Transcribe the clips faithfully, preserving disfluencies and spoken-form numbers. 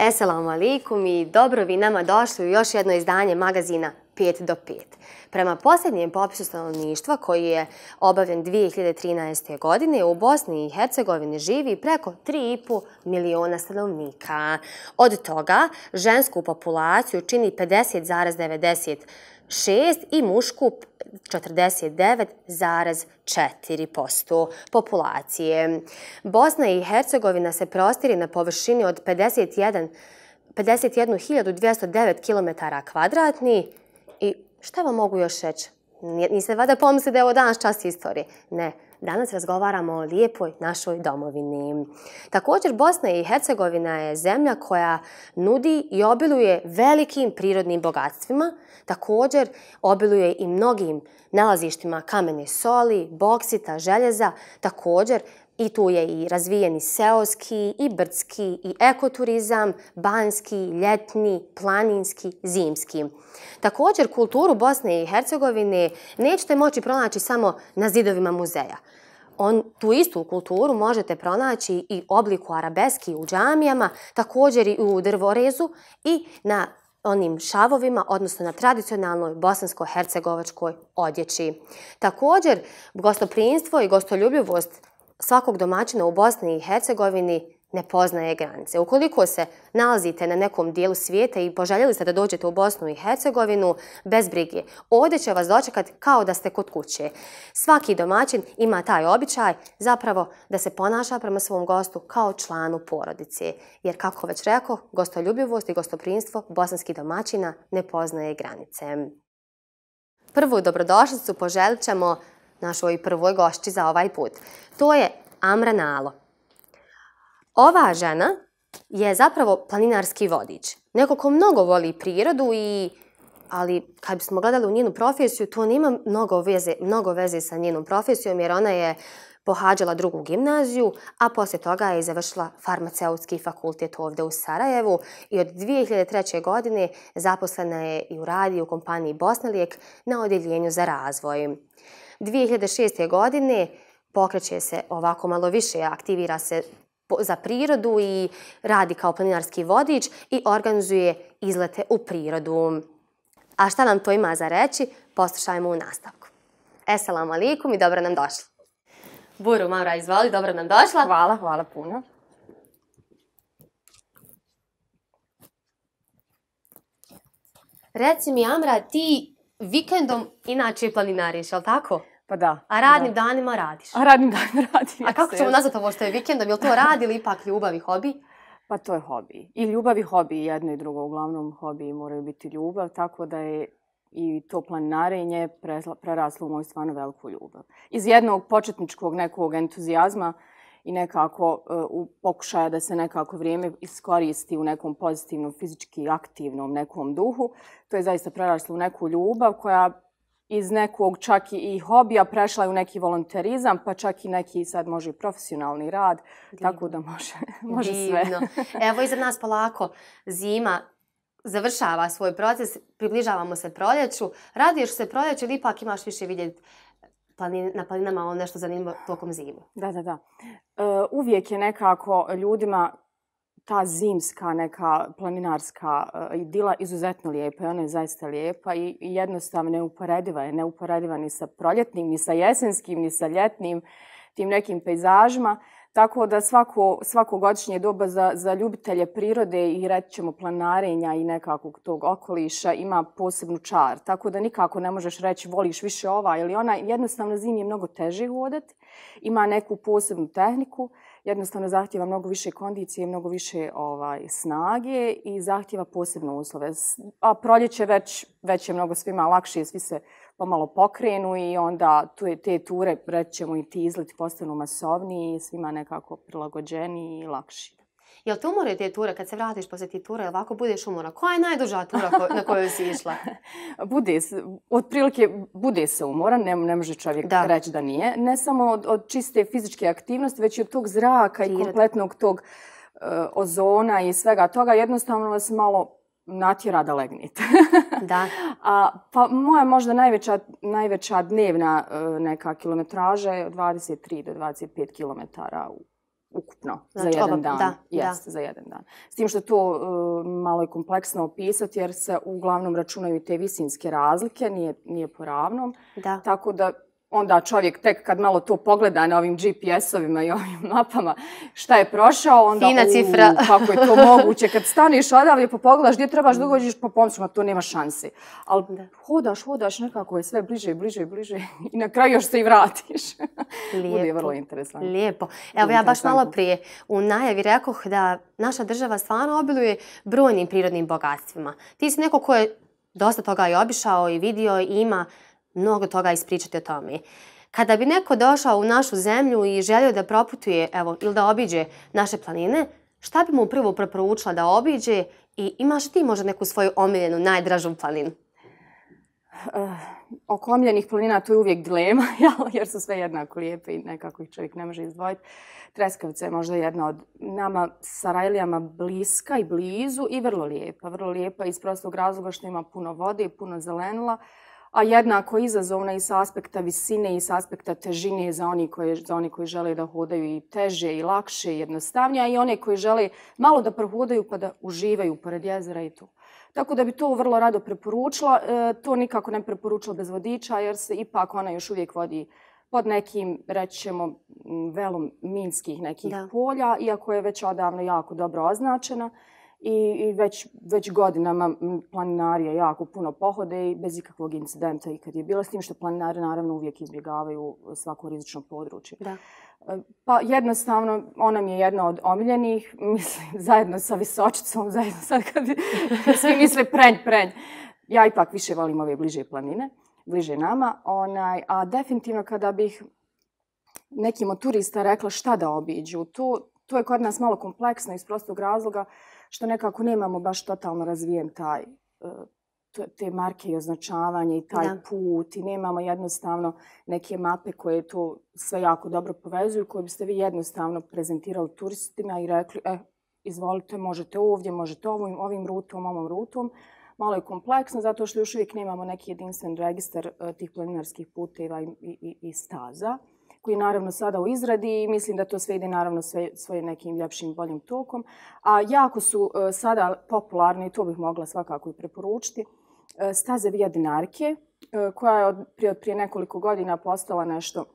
Esselamu alaikum i dobro vi nama došli u još jedno izdanje magazina pet do pet. Prema posljednjem popisu stanovništva koji je obavljen dvije hiljade trinaeste. godine u Bosni i Hercegovini živi preko tri i po miliona stanovnika. Od toga žensku populaciju čini pedeset zarez devedeset šest i mušku četrdeset devet zarez četiri posto populacije. Bosna i Hercegovina se prostire na površini od pedeset jednu hiljadu dvjesto devet kilometara kvadratnih i šta vam mogu još reći? Niste valjda pomislili da je ovo danas čas istorije? Ne. Danas razgovaramo o lijepoj našoj domovini. Također, Bosna i Hercegovina je zemlja koja nudi i obiluje velikim prirodnim bogatstvima. Također, obiluje i mnogim nalazištima kamene soli, boksita, željeza. Također, i tu je i razvijeni seoski, i brdski, i ekoturizam, banjski, ljetni, planinski, zimski. Također, kulturu Bosne i Hercegovine nećete moći pronaći samo na zidovima muzeja. On, tu istu kulturu možete pronaći i obliku arabeski u džamijama, također i u drvorezu i na onim šavovima, odnosno na tradicionalnoj bosansko-hercegovačkoj odjeći. Također, gostoprimstvo i gostoljubivost svakog domaćina u Bosni i Hercegovini ne poznaje granice. Ukoliko se nalazite na nekom dijelu svijeta i poželjeli ste da dođete u Bosnu i Hercegovinu, bez brige, ovdje će vas dočekati kao da ste kod kuće. Svaki domaćin ima taj običaj zapravo da se ponaša prema svom gostu kao članu porodice. Jer kako već rekao, gostoljubivost i gostoprimstvo bosanskih domaćina ne poznaje granice. Prvu dobrodošlicu poželit ćemo našoj prvoj gošći za ovaj put. To je Amra Nalo. Ova žena je zapravo planinarski vodič. Neko ko mnogo voli prirodu, i, ali kad bismo gledali u njenu profesiju, to nema mnogo veze, mnogo veze sa njenom profesijom, jer ona je pohađala drugu gimnaziju, a poslije toga je završila farmaceutski fakultet ovdje u Sarajevu i od dvije hiljade treće. godine zaposlena je i u radi u kompaniji Bosnalijek na odjeljenju za razvoj. dvije hiljade šeste. godine pokreće se ovako malo više, aktivira se za prirodu i radi kao planinarski vodič i organizuje izlete u prirodu. A šta nam to ima za reći, poslušajmo u nastavku. Esselamu alaikum i dobro nam došla. Buru, Mara, izvoli, dobro nam došla. Hvala, hvala puno. Reci mi, Amra, ti vikendom inače planinariš, jel' tako? Pa da. A radnim da. danima radiš? A radnim danima radim. A kako ćemo nazvati ovo što je vikendom? Je li to rad ili ipak ljubav i hobi? Pa to je hobi. I ljubav i hobi, jedno i drugo. Uglavnom hobi moraju biti ljubav, tako da je i to planinarenje preraslo u moju stvarno veliku ljubav. Iz jednog početničkog nekog entuzijazma i nekako u pokušaja da se nekako vrijeme iskoristi u nekom pozitivnom, fizički aktivnom nekom duhu, to je zaista preraslo u neku ljubav koja iz nekog čak i hobija prešla je u neki volonterizam, pa čak i neki sad može i profesionalni rad, Divno. Tako da može, može sve. Evo iza nas polako zima završava svoj proces, približavamo se proljeću. Radiješ se proljeću ili ipak imaš više vidjeti na planinama ono nešto zanimljivo tokom zime? Da, da, da. E, uvijek je nekako ljudima ta zimska neka planinarska idila izuzetno lijepa i ona je zaista lijepa i jednostavno neuporediva je. Neuporediva ni sa proljetnim, ni sa jesenskim, ni sa ljetnim tim nekim pejzažima. Tako da svako, svako godišnje doba za, za ljubitelje prirode i reći ćemo planinarenja i nekakvog tog okoliša ima posebnu čar. Tako da nikako ne možeš reći voliš više ova ili ona. Jednostavno zimi je mnogo teže hodati. Ima neku posebnu tehniku. Jednostavno zahtjeva mnogo više kondicije, mnogo više ovaj, snage i zahtjeva posebne uslove. A proljeće već, već je mnogo svima lakše, svi se pomalo pokrenu i onda tu je te ture, reći ćemo i ti izleti postanu masovniji i svima nekako prilagođeniji i lakši. Jel te umore te ture kad se vratiš poslije ti ture, ovako budeš umora? Koja je najduža tura na koju si išla? Bude se, otprilike bude se umoran, ne, ne može čovjek da. reći da nije. Ne samo od, od čiste fizičke aktivnosti, već i od tog zraka i kompletnog tog uh, ozona i svega toga. Jednostavno vas malo natjera da legnete. Da. A, pa moja možda najveća, najveća dnevna uh, neka kilometraža je od dvadeset tri do dvadeset pet kilometara u ukupno Znači, za jedan oba, dan. da, Jest, da. za jedan dan. S tim što to uh, malo je kompleksno opisati jer se uglavnom računaju i te visinske razlike, nije, nije po ravnom. Da. Tako da onda čovjek tek kad malo to pogleda na ovim G P S-ovima i ovim mapama šta je prošao, onda Fina cifra. U, kako je to moguće. Kad staniš odavlje pa pogledaš gdje trebaš da dođeš pa pomisliš, to nema šanse. Ali hodaš, hodaš, nekako je sve bliže, bliže, bliže i na kraju još se i vratiš. Bude vrlo interesantno. Lijepo. Evo ja baš malo prije u najavi rekoh da naša država stvarno obiluje brojnim prirodnim bogatstvima. Ti si neko ko je dosta toga i obišao i vidio i ima mnogo toga ispričati o tome. Kada bi neko došao u našu zemlju i želio da proputuje, evo, ili da obiđe naše planine, šta bi mu prvo preporučila da obiđe i imaš ti možda neku svoju omiljenu, najdražu planinu? Uh, oko omiljenih planina to je uvijek dilema, jer su sve jednako lijepe i nekako ih čovjek ne može izdvojiti. Treskavica je možda jedna od nama Sarajlijama bliska i blizu i vrlo lijepa. Vrlo lijepa iz prostog razloga što ima puno vode i puno zelenila, a jednako izazovna i s aspekta visine i s aspekta težine za oni koji, za oni koji žele da hodaju i teže i lakše i jednostavnije, a i one koji žele malo da prohodaju pa da uživaju pored jezera i to. Tako da bi to vrlo rado preporučila. E, to nikako ne preporučila bez vodiča jer se ipak ona još uvijek vodi pod nekim, rećemo, velom minskih nekih da. polja, iako je već odavno jako dobro označena. I, i već, već godinama planinarije jako puno pohode i bez ikakvog incidenta i kad je bilo, s tim što planinari naravno uvijek izbjegavaju svako rizično područje. Da. Pa jednostavno, ona mi je jedna od omiljenih, mislim, zajedno sa Visočicom, zajedno sad kad svi misle prenj, prenj. Ja ipak više volim ove bliže planine, bliže nama, onaj, a definitivno kada bih nekim od turista rekla šta da obiđu, to, to je kod nas malo kompleksno iz prostog razloga što nekako nemamo baš totalno razvijen taj, te marke i označavanje i taj da. put i nemamo jednostavno neke mape koje to sve jako dobro povezuju, koje biste vi jednostavno prezentirali turistima i rekli, e, izvolite, možete ovdje, možete ovim, ovim rutom, ovom rutom. Malo je kompleksno zato što još uvijek nemamo neki jedinstven registar tih planinarskih puteva i, i, i staza, koji je naravno sada u izradi i mislim da to sve ide naravno sve, svojim nekim ljepšim, boljim tokom. A jako su uh, sada popularne, i to bih mogla svakako i preporučiti, uh, staze Via Dinarke, uh, koja je od prije, od prije nekoliko godina postala nešto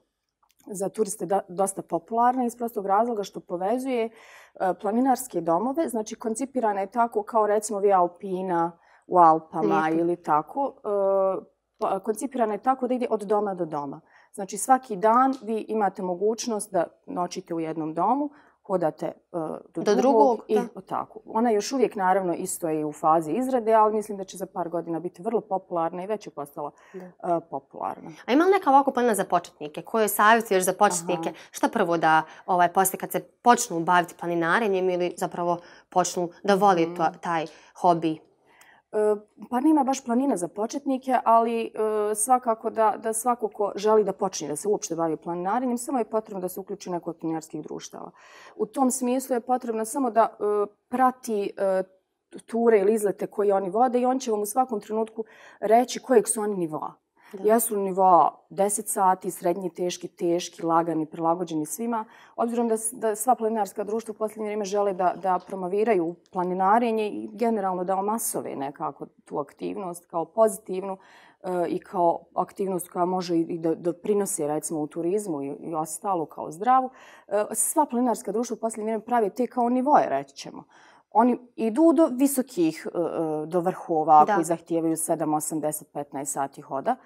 za turiste da, dosta popularna iz prostog razloga što povezuje uh, planinarske domove. Znači, koncipirana je tako kao recimo Via Alpina u Alpama Lijepo. ili tako. Uh, koncipirana je tako da ide od doma do doma. Znači svaki dan vi imate mogućnost da noćite u jednom domu, hodate uh, do, do drugog, drugog i da. tako. Ona još uvijek naravno isto je u fazi izrade, ali mislim da će za par godina biti vrlo popularna i već je postala uh, popularna. A ima li neka ovako planina za početnike? Koje savjetuješ za početnike? Aha. Šta prvo da ovaj, poslije kad se počnu baviti planinarenjem ili zapravo počnu da voli hmm. to, taj hobi? Pa nema baš planina za početnike, ali uh, svakako da, da svako ko želi da počne da se uopšte bavi planinarenjem, samo je potrebno da se uključi u neko od planinarskih društava. U tom smislu je potrebno samo da uh, prati uh, ture ili izlete koje oni vode i on će vam u svakom trenutku reći kojeg su oni nivoa. Da. Jesu nivoa deset sati, srednji, teški, teški, lagani, prilagođeni svima. Obzirom da, da sva planinarska društva u posljednje vrijeme žele da, da promoviraju planinarenje i generalno da omasove nekako tu aktivnost kao pozitivnu uh, i kao aktivnost koja može i da doprinosi recimo u turizmu i, i ostalo kao zdravu. Uh, sva planinarska društva u posljednje vrijeme prave te kao nivoje, reći ćemo. Oni idu do visokih, do vrhova da. koji zahtijevaju sedam, osam, deset, petnaest sati hoda,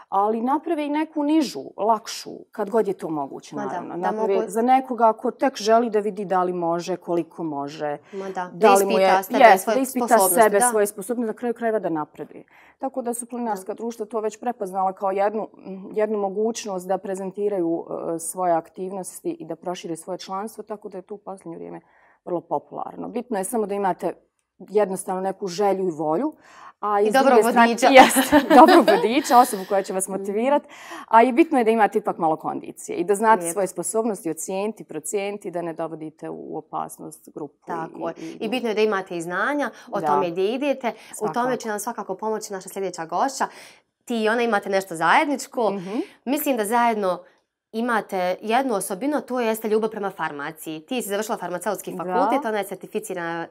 ali naprave i neku nižu, lakšu, kad god je to moguće, naravno. Da, naprave da mogu... za nekoga ko tek želi da vidi da li može, koliko može. Ma da, da, da li mu je, sebe jest, svoje da ispita sposobnosti. sebe, da. svoje sposobnosti, na kraju krajeva da napreduje. Tako da su planinarska društva to već prepoznala kao jednu, jednu mogućnost da prezentiraju uh, svoje aktivnosti i da prošire svoje članstvo, tako da je to u posljednje vrijeme vrlo popularno. Bitno je samo da imate jednostavno neku želju i volju. A I dobro vodiča. Jest, dobro vodiča, osobu koja će vas motivirati. A i bitno je da imate ipak malo kondicije i da znate Lijep. svoje sposobnosti, ocijeniti, procijeniti, da ne dovodite u opasnost grupu. Tako i, i, I bitno je da imate i znanja o da. tome gdje idete. Svakako. U tome će nam svakako pomoći naša sljedeća gošća. Ti i ona imate nešto zajedničko. Mm-hmm. Mislim da zajedno imate jednu osobinu, to jeste ljubav prema farmaciji. Ti si završila farmaceutski fakultet, ona je certificirana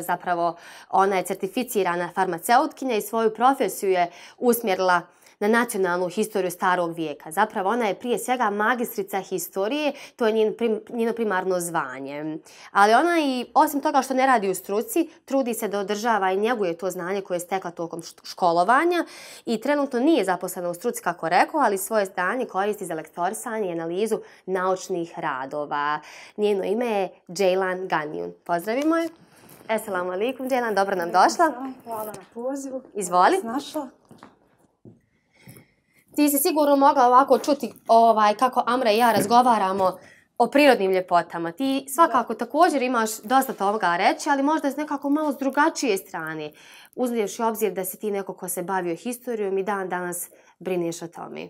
zapravo, ona je certificirana farmaceutkinja i svoju profesiju je usmjerila na nacionalnu historiju starog vijeka. Zapravo ona je prije svega magistrica historije, to je njen prim, njeno primarno zvanje. Ali ona i osim toga što ne radi u struci, trudi se da održava i njeguje to znanje koje je stekla tokom školovanja i trenutno nije zaposlena u struci kako rekao, ali svoje znanje koristi za lektorisanje i analizu naučnih radova. Njeno ime je Džejlan Ganjun. Pozdravimo je. Esselamu alaikum, Džejlan, dobro nam došla. Hvala na pozivu. Izvoli. Našla. Ti si sigurno mogla ovako čuti ovaj, kako Amra i ja razgovaramo o prirodnim ljepotama. Ti svakako da. također imaš dosta toga reći, ali možda s nekako malo s drugačije strane. Uzmiješ u obzir da si ti neko ko se bavio historijom i dan danas brineš o tome.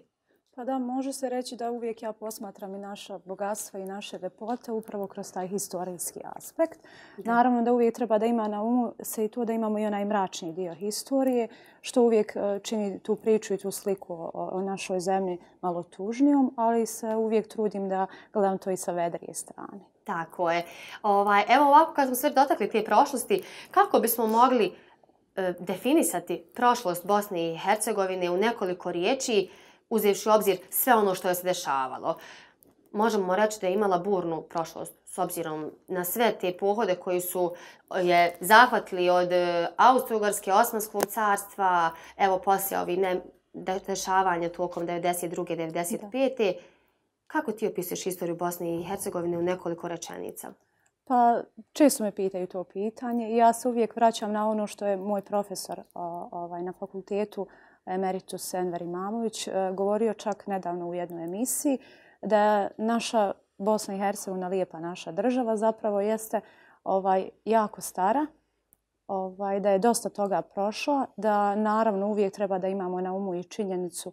Pa da, može se reći da uvijek ja posmatram i naša bogatstva i naše ljepote upravo kroz taj historijski aspekt. Da. Naravno da uvijek treba da ima na umu se i to da imamo i onaj mračni dio historije, što uvijek čini tu priču i tu sliku o, o našoj zemlji malo tužnijom, ali se uvijek trudim da gledam to i sa vedrije strane. Tako je. Ovaj, evo ovako kad smo sve dotakli te prošlosti, kako bismo mogli e, definisati prošlost Bosne i Hercegovine u nekoliko riječi, uzevši u obzir sve ono što je se dešavalo? Možemo reći da je imala burnu prošlost s obzirom na sve te pohode koji su je zahvatili od Austro-Ugarske, Osmanskog carstva, evo poslije ovih ne, dešavanja tokom devedeset druge devedeset pete Kako ti opisuješ historiju Bosne i Hercegovine u nekoliko rečenica? Pa često me pitaju to pitanje i ja se uvijek vraćam na ono što je moj profesor o, ovaj, na fakultetu, emeritus Enver Imamović, govorio čak nedavno u jednoj emisiji, da naša Bosna i Hercegovina, lijepa naša država, zapravo jeste ovaj, jako stara, ovaj, da je dosta toga prošla, da naravno uvijek treba da imamo na umu i činjenicu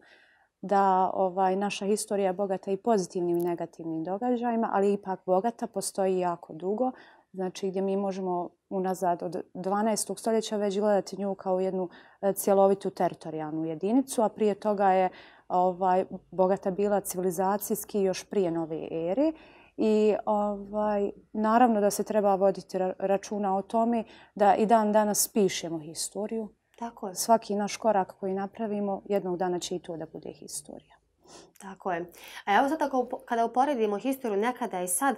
da ovaj, naša historija je bogata i pozitivnim i negativnim događajima, ali ipak bogata, postoji jako dugo. Znači gdje mi možemo unazad od dvanaestog stoljeća već gledati nju kao jednu cjelovitu teritorijalnu jedinicu, a prije toga je ovaj, bogata bila civilizacijski još prije nove ere. I ovaj, naravno da se treba voditi računa o tome da i dan danas pišemo historiju. Tako je. Svaki naš korak koji napravimo, jednog dana će i to da bude historija. Tako je. A evo sad ako, kada uporedimo historiju nekada i sad,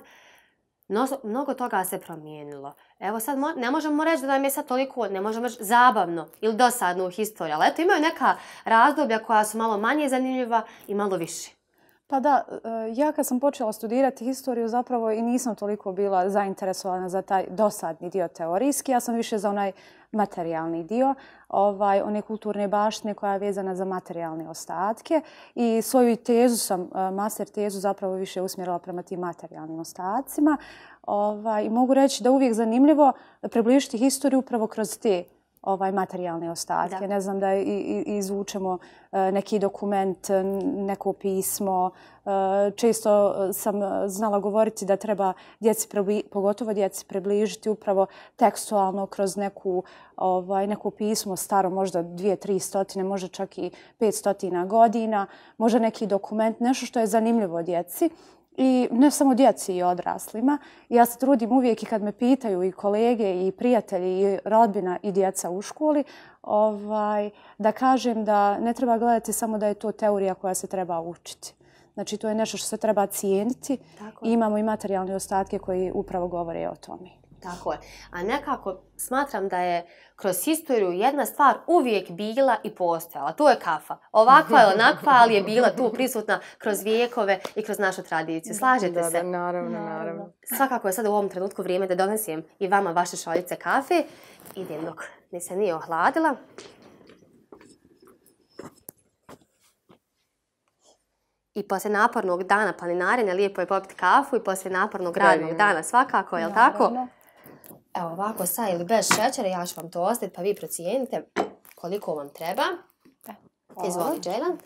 no, mnogo toga se promijenilo. Evo sad mo, ne možemo reći da nam je sad toliko, ne možemo reći zabavno ili dosadno u historiji, ali eto imaju neka razdoblja koja su malo manje zanimljiva i malo više. Pa da, ja kad sam počela studirati historiju zapravo i nisam toliko bila zainteresovana za taj dosadni dio teorijski, ja sam više za onaj materijalni dio, ovaj, one kulturne baštine koja je vezana za materijalne ostatke i svoju tezu sam, master tezu zapravo više usmjerila prema tim materijalnim ostacima. Ovaj, mogu reći da uvijek zanimljivo približiti historiju upravo kroz te ovaj materijalne ostatke. Da. Ne znam da izvučemo neki dokument, neko pismo. Često sam znala govoriti da treba djeci, pogotovo djeci, približiti upravo tekstualno kroz neku, ovaj, neko pismo staro možda dvije, tri stotine, možda čak i pet stotina godina, možda neki dokument, nešto što je zanimljivo djeci. I ne samo djeci i odraslima. Ja se trudim uvijek i kad me pitaju i kolege i prijatelji i rodbina i djeca u školi, ovaj, da kažem da ne treba gledati samo da je to teorija koja se treba učiti. Znači to je nešto što se treba cijeniti i imamo i materijalne ostatke koji upravo govore o tome. Tako je. A nekako smatram da je kroz historiju jedna stvar uvijek bila i postojala. To je kafa. Ovakva je onakva, ali je bila tu prisutna kroz vijekove i kroz našu tradiciju. Slažete da, se? Da, naravno, naravno. Svakako je sad u ovom trenutku vrijeme da donesem i vama vaše šoljice kafe. Idem dok ne se nije ohladila. I poslije napornog dana planinarenja lijepo je popiti kafu i poslije napornog radnog dana svakako, je li tako? Evo ovako sa ili bez šećera, ja ću vam to ostaviti pa vi procijenite koliko vam treba. Izvoli, Džejlan.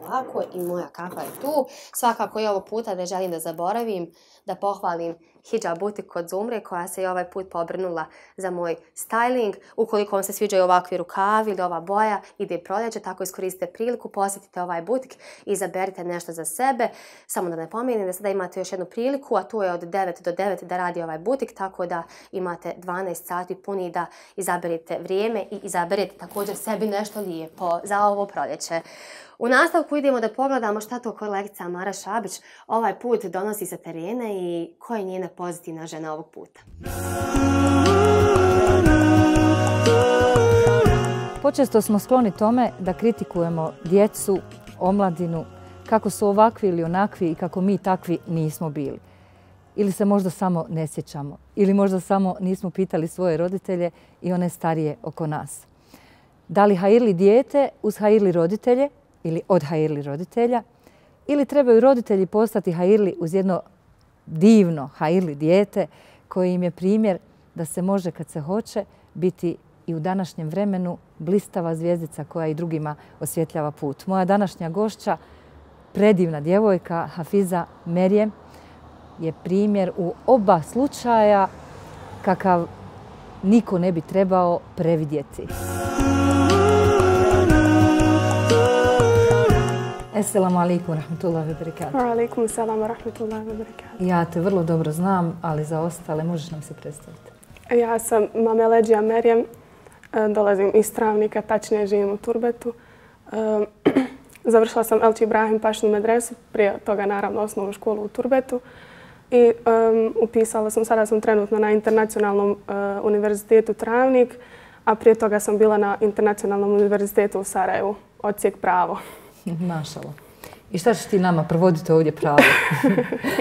Ovako, i moja kafa je tu. Svakako i ovog puta ne želim da zaboravim da pohvalim Hijab butik kod Zumre koja se i ovaj put pobrnula za moj styling. Ukoliko vam se sviđaju ovakvi rukavi ili ova boja, ide proljeće, tako iskoristite priliku, posjetite ovaj butik i izaberite nešto za sebe. Samo da ne pomenem da sada imate još jednu priliku, a to je od devet do devet da radi ovaj butik, tako da imate dvanaest sati puni da izaberete vrijeme i izaberete također sebi nešto lijepo za ovo proljeće. U nastavku idemo da pogledamo šta to kolegica Amara Šabić ovaj put donosi sa terena i koja je njena pozitivna žena ovog puta. Počesto smo skloni tome da kritikujemo djecu, omladinu, kako su ovakvi ili onakvi i kako mi takvi nismo bili. Ili se možda samo ne sjećamo, ili možda samo nismo pitali svoje roditelje i one starije oko nas. Da li hajirli dijete uz hajirli roditelje ili od hajirli roditelja, ili trebaju roditelji postati hajirli uz jedno divno hajirli dijete koji im je primjer da se može kad se hoće biti i u današnjem vremenu blistava zvijezdica koja i drugima osvjetljava put. Moja današnja gošća, predivna djevojka Hafiza Merijem, je primjer u oba slučaja kakav niko ne bi trebao previdjeti. Assalamu alaikum rahmatullahi wa barakatuh. Wa alaikum salam wa rahmatullahi wa barakatuh. Ja te vrlo dobro znam, ali za ostale možeš nam se predstaviti. Ja sam Mameleđija Merijem, dolazim iz Travnika, tačnije živim u Turbetu. Završila sam Elči Ibrahim Pašnu medresu, prije toga naravno osnovnu školu u Turbetu. I um, upisala sam, sada sam trenutno na Internacionalnom uh, univerzitetu Travnik, a prije toga sam bila na Internacionalnom univerzitetu u Sarajevu, odsjek pravo. Mašala. I šta ćeš ti nama provoditi ovdje pravo?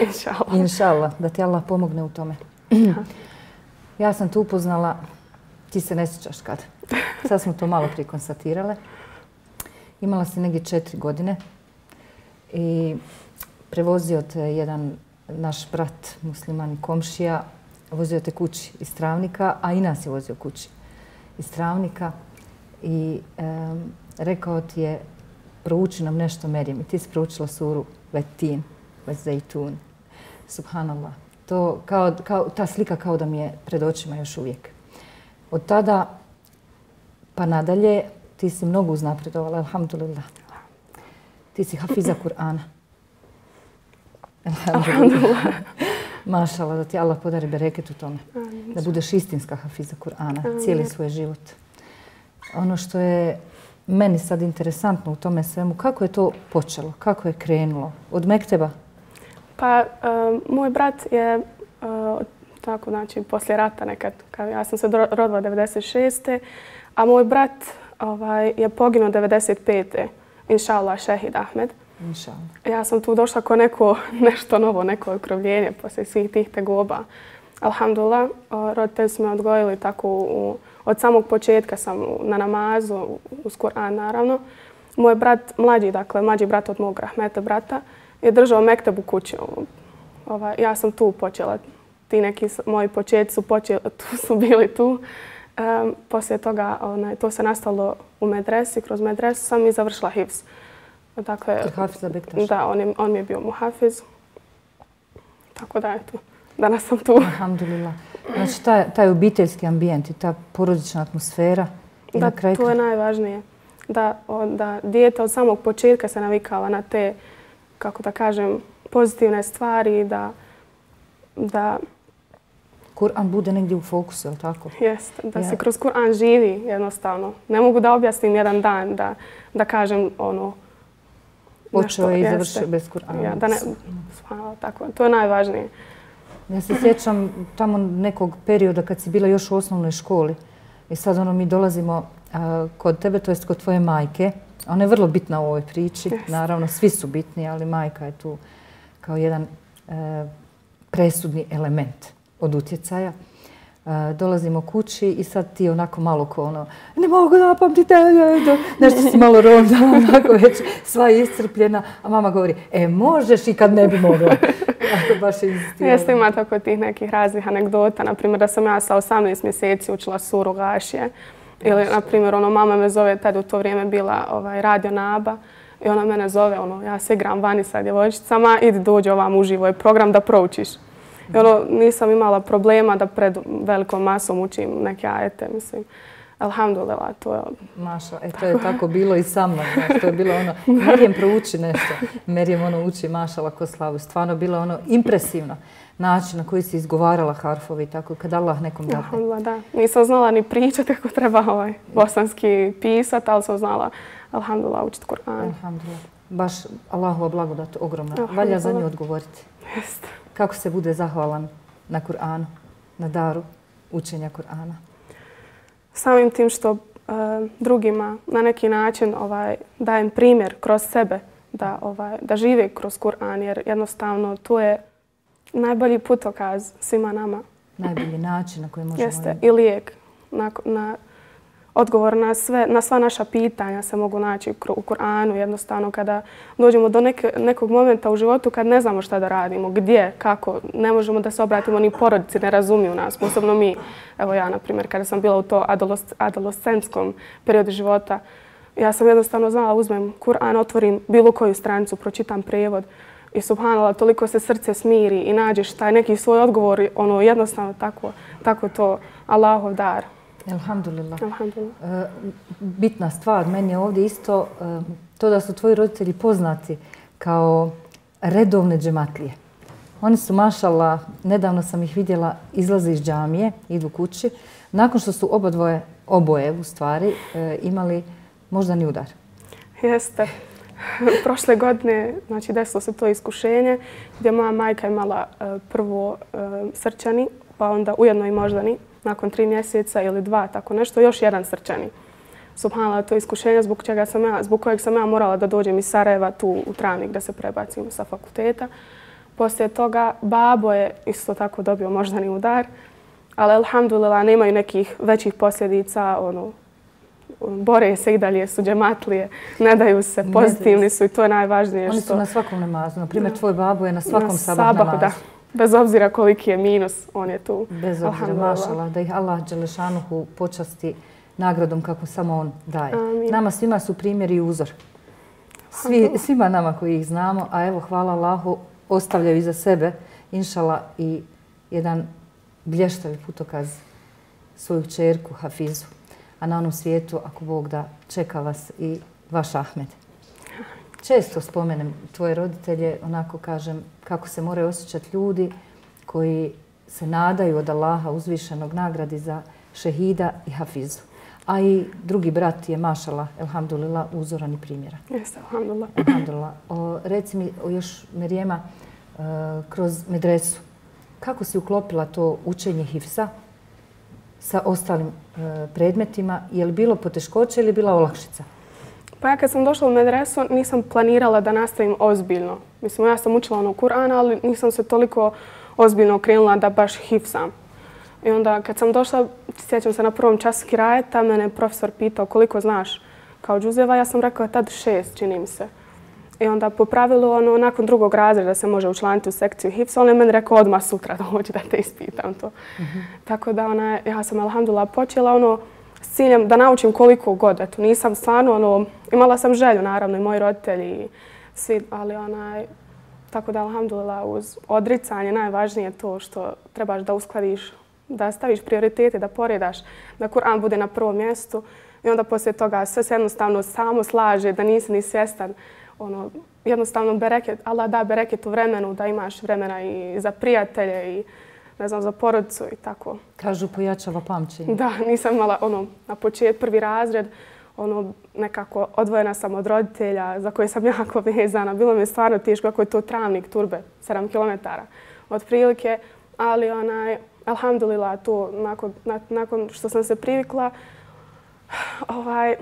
Inšallah. Inšallah, da ti Allah pomogne u tome. Ja sam te upoznala, ti se ne sjećaš kad. Sad smo to malo prije konstatirale. Imala si negdje četiri godine i prevozio te jedan naš brat musliman i komšija, vozio te kući iz Travnika, a i nas je vozio kući iz Travnika i um, rekao ti je prouči nam nešto Merijem i ti si proučila suru Vetin, Vezejtun. Subhanallah. To kao, kao, ta slika kao da mi je pred očima još uvijek. Od tada pa nadalje ti si mnogo uznapredovala, alhamdulillah. Ti si hafiza Kur'ana. Alhamdulillah. Mašala, da ti Allah podari bereket u tome. Da budeš istinska hafiza Kur'ana cijeli svoj život. Ono što je meni sad interesantno u tome svemu, kako je to počelo, kako je krenulo? Od mekteba? Pa, um, moj brat je, uh, tako znači, poslije rata nekad, kao ja sam se rodila devedeset šeste. a moj brat ovaj, je poginuo devedeset pete. Inšallah, Šehid Ahmed. Inšallah. Ja sam tu došla ko neko, nešto novo, neko okrovljenje poslije svih tih tegoba. Alhamdulillah, roditelji su me odgojili tako u, od samog početka sam na namazu, uz Kur'an naravno. Moj brat, mlađi, dakle, mlađi brat od mog rahmeta brata, je držao mekteb u kući. Ovaj, ja sam tu počela. Ti neki moji početci su, počeli, tu su bili tu. Um, poslije toga onaj, to se nastalo u medresi, kroz medresu sam i završila hifz. Dakle, Hafiza Bektaš? Da, on, je, on mi je bio muhafiz. Tako da, eto, danas sam tu. Alhamdulillah. Znači, taj, taj obiteljski ambijent i ta porodična atmosfera. I da, na kraju... to je najvažnije. Da, o, da dijete od samog početka se navikava na te, kako da kažem, pozitivne stvari, da, da Kur'an bude negdje u fokusu, je li tako? Jest, da ja. se kroz Kur'an živi jednostavno. Ne mogu da objasnim jedan dan, da, da kažem ono... Počeo je i završio bez Kur'ana. Ja, da ne, tako, to je najvažnije. Ja se sjećam tamo nekog perioda kad si bila još u osnovnoj školi i sad ono mi dolazimo a, kod tebe, to jest kod tvoje majke. Ona je vrlo bitna u ovoj priči. Yes. Naravno, svi su bitni, ali majka je tu kao jedan e, presudni element od utjecaja. E, dolazimo kući i sad ti onako malo ko ono, ne mogu napamtiti, nešto si malo ronda, onako već sva je iscrpljena, a mama govori, e možeš i kad ne bi mogla. Ako baš je insistirala. Jeste, ima tako tih nekih raznih anegdota, naprimjer da sam ja sa osamnaest mjeseci učila suru Gašije. Ili, na primjer, ono, mama me zove, tada u to vrijeme bila ovaj, radio Naba. I ona mene zove, ono, ja se igram vani sa djevojčicama, idi dođi ovam uživo je program da proučiš. I ono, nisam imala problema da pred velikom masom učim neke ajete, mislim. Alhamdulillah, to je... Maša, e, to je tako bilo i sa mnom. Znači, to je bilo ono, Merijem prouči nešto. Merijem ono uči mašala ko slavu. Stvarno bilo ono impresivno. Način na koji si izgovarala harfove i tako, kad Allah nekom dadne. Alhamdulillah, da. Nisam znala ni pričati kako treba ovaj bosanski pisat, ali sam znala, alhamdulillah, učiti Kur'an. Alhamdulillah. Baš Allahova blagodat ogromna. Valja za nju odgovoriti. Jeste. Kako se bude zahvalan na Kur'anu, na daru učenja Kur'ana? Samim tim što uh, drugima na neki način ovaj, dajem primjer kroz sebe da, ovaj, da žive kroz Kur'an, jer jednostavno to je najbolji putokaz svima nama. Najbolji način na koji možemo... Jeste, i lijek. Na, na odgovor na, sve, na sva naša pitanja se mogu naći u Kur'anu. Jednostavno kada dođemo do neke, nekog momenta u životu kad ne znamo šta da radimo, gdje, kako, ne možemo da se obratimo ni porodici, ne razumiju nas. Posebno mi, evo ja na primjer, kada sam bila u to adolescentskom periodu života, ja sam jednostavno znala, uzmem Kur'an, otvorim bilo koju stranicu, pročitam prijevod i subhanallah, toliko se srce smiri i nađeš taj neki svoj odgovor, ono jednostavno tako, tako to Allahov dar. Alhamdulillah. Alhamdulillah. E, bitna stvar meni je ovdje isto e, to da su tvoji roditelji poznati kao redovne džematlije. Oni su, mašallah, nedavno sam ih vidjela, izlaze iz džamije, idu kući, nakon što su oba dvoje, oboje u stvari, e, imali moždani udar. Jeste. Prošle godine, znači, desilo se to iskušenje gdje moja majka imala e, prvo e, srčani, pa onda ujedno i moždani, nakon tri mjeseca ili dva, tako nešto, još jedan srčani. Subhanallah, to je iskušenje zbog, čega sam ja, zbog kojeg sam ja morala da dođem iz Sarajeva tu u Travnik da se prebacim sa fakulteta. Poslije toga babo je isto tako dobio moždani udar, ali alhamdulillah nemaju nekih većih posljedica, ono, bore se i dalje, su džematlije, ne daju se, pozitivni su i to je najvažnije. Oni što... su na svakom namazu. Na primjer, tvoj babo je na svakom na sabah sabahu, namazu. Da. Bez obzira koliki je minus, on je tu. Bez obzira, mašala, da ih Allah dželešanuhu počasti nagradom kako samo on daje. Amin. Nama svima su primjer i uzor. Svi, svima nama koji ih znamo, a evo, hvala Allahu, ostavljaju iza sebe, inšala, i jedan blještavi putokaz svoju kćerku Hafizu. A na onom svijetu, ako Bog da, čeka vas i vaš Ahmed. Često spomenem tvoje roditelje, onako kažem kako se moraju osjećati ljudi koji se nadaju od Allaha uzvišenog nagradi za šehida i Hafizu. A i drugi brat je, mašala, elhamdulillah, uzoran i primjera. Jeste, alhamdulillah. Alhamdulillah. O, reci mi o još, Merijema, e, kroz medresu, kako si uklopila to učenje hifsa sa ostalim e, predmetima? Je li bilo poteškoće ili bila olakšica? Pa ja kad sam došla u medresu nisam planirala da nastavim ozbiljno. Mislim, ja sam učila ono Kur'an, ali nisam se toliko ozbiljno okrenula da baš hifsam. I onda kad sam došla, sjećam se na prvom času kirajeta, mene je profesor pitao koliko znaš kao džuzeva. Ja sam rekla tad šest, čini mi se. I onda po pravilu, ono, nakon drugog razreda se može učlaniti u sekciju hifsa, on je meni rekao odmah sutra da hoće da te ispitam to. Mm-hmm. Tako da ona, ja sam alhamdulillah počela ono, s ciljem da naučim koliko god. Eto, nisam stvarno, ono, imala sam želju, naravno, i moji roditelji i svi, ali onaj, tako da, alhamdulillah, uz odricanje najvažnije je to što trebaš da uskladiš, da staviš prioritete, da poredaš, da Kur'an bude na prvom mjestu i onda poslije toga sve se jednostavno samo slaže, da nisi ni svjestan. Ono, jednostavno, bereket, Allah da bereket u vremenu, da imaš vremena i za prijatelje i ne znam, za porodicu i tako. Kažu, pojačava pamćenje. Da, nisam imala ono, na početku prvi razred, ono, nekako odvojena sam od roditelja za koje sam jako vezana. Bilo mi je stvarno teško kako je to Travnik, Turbe, sedam kilometara otprilike, ali onaj, alhamdulillah, to nakon, na, nakon što sam se privikla, ovaj...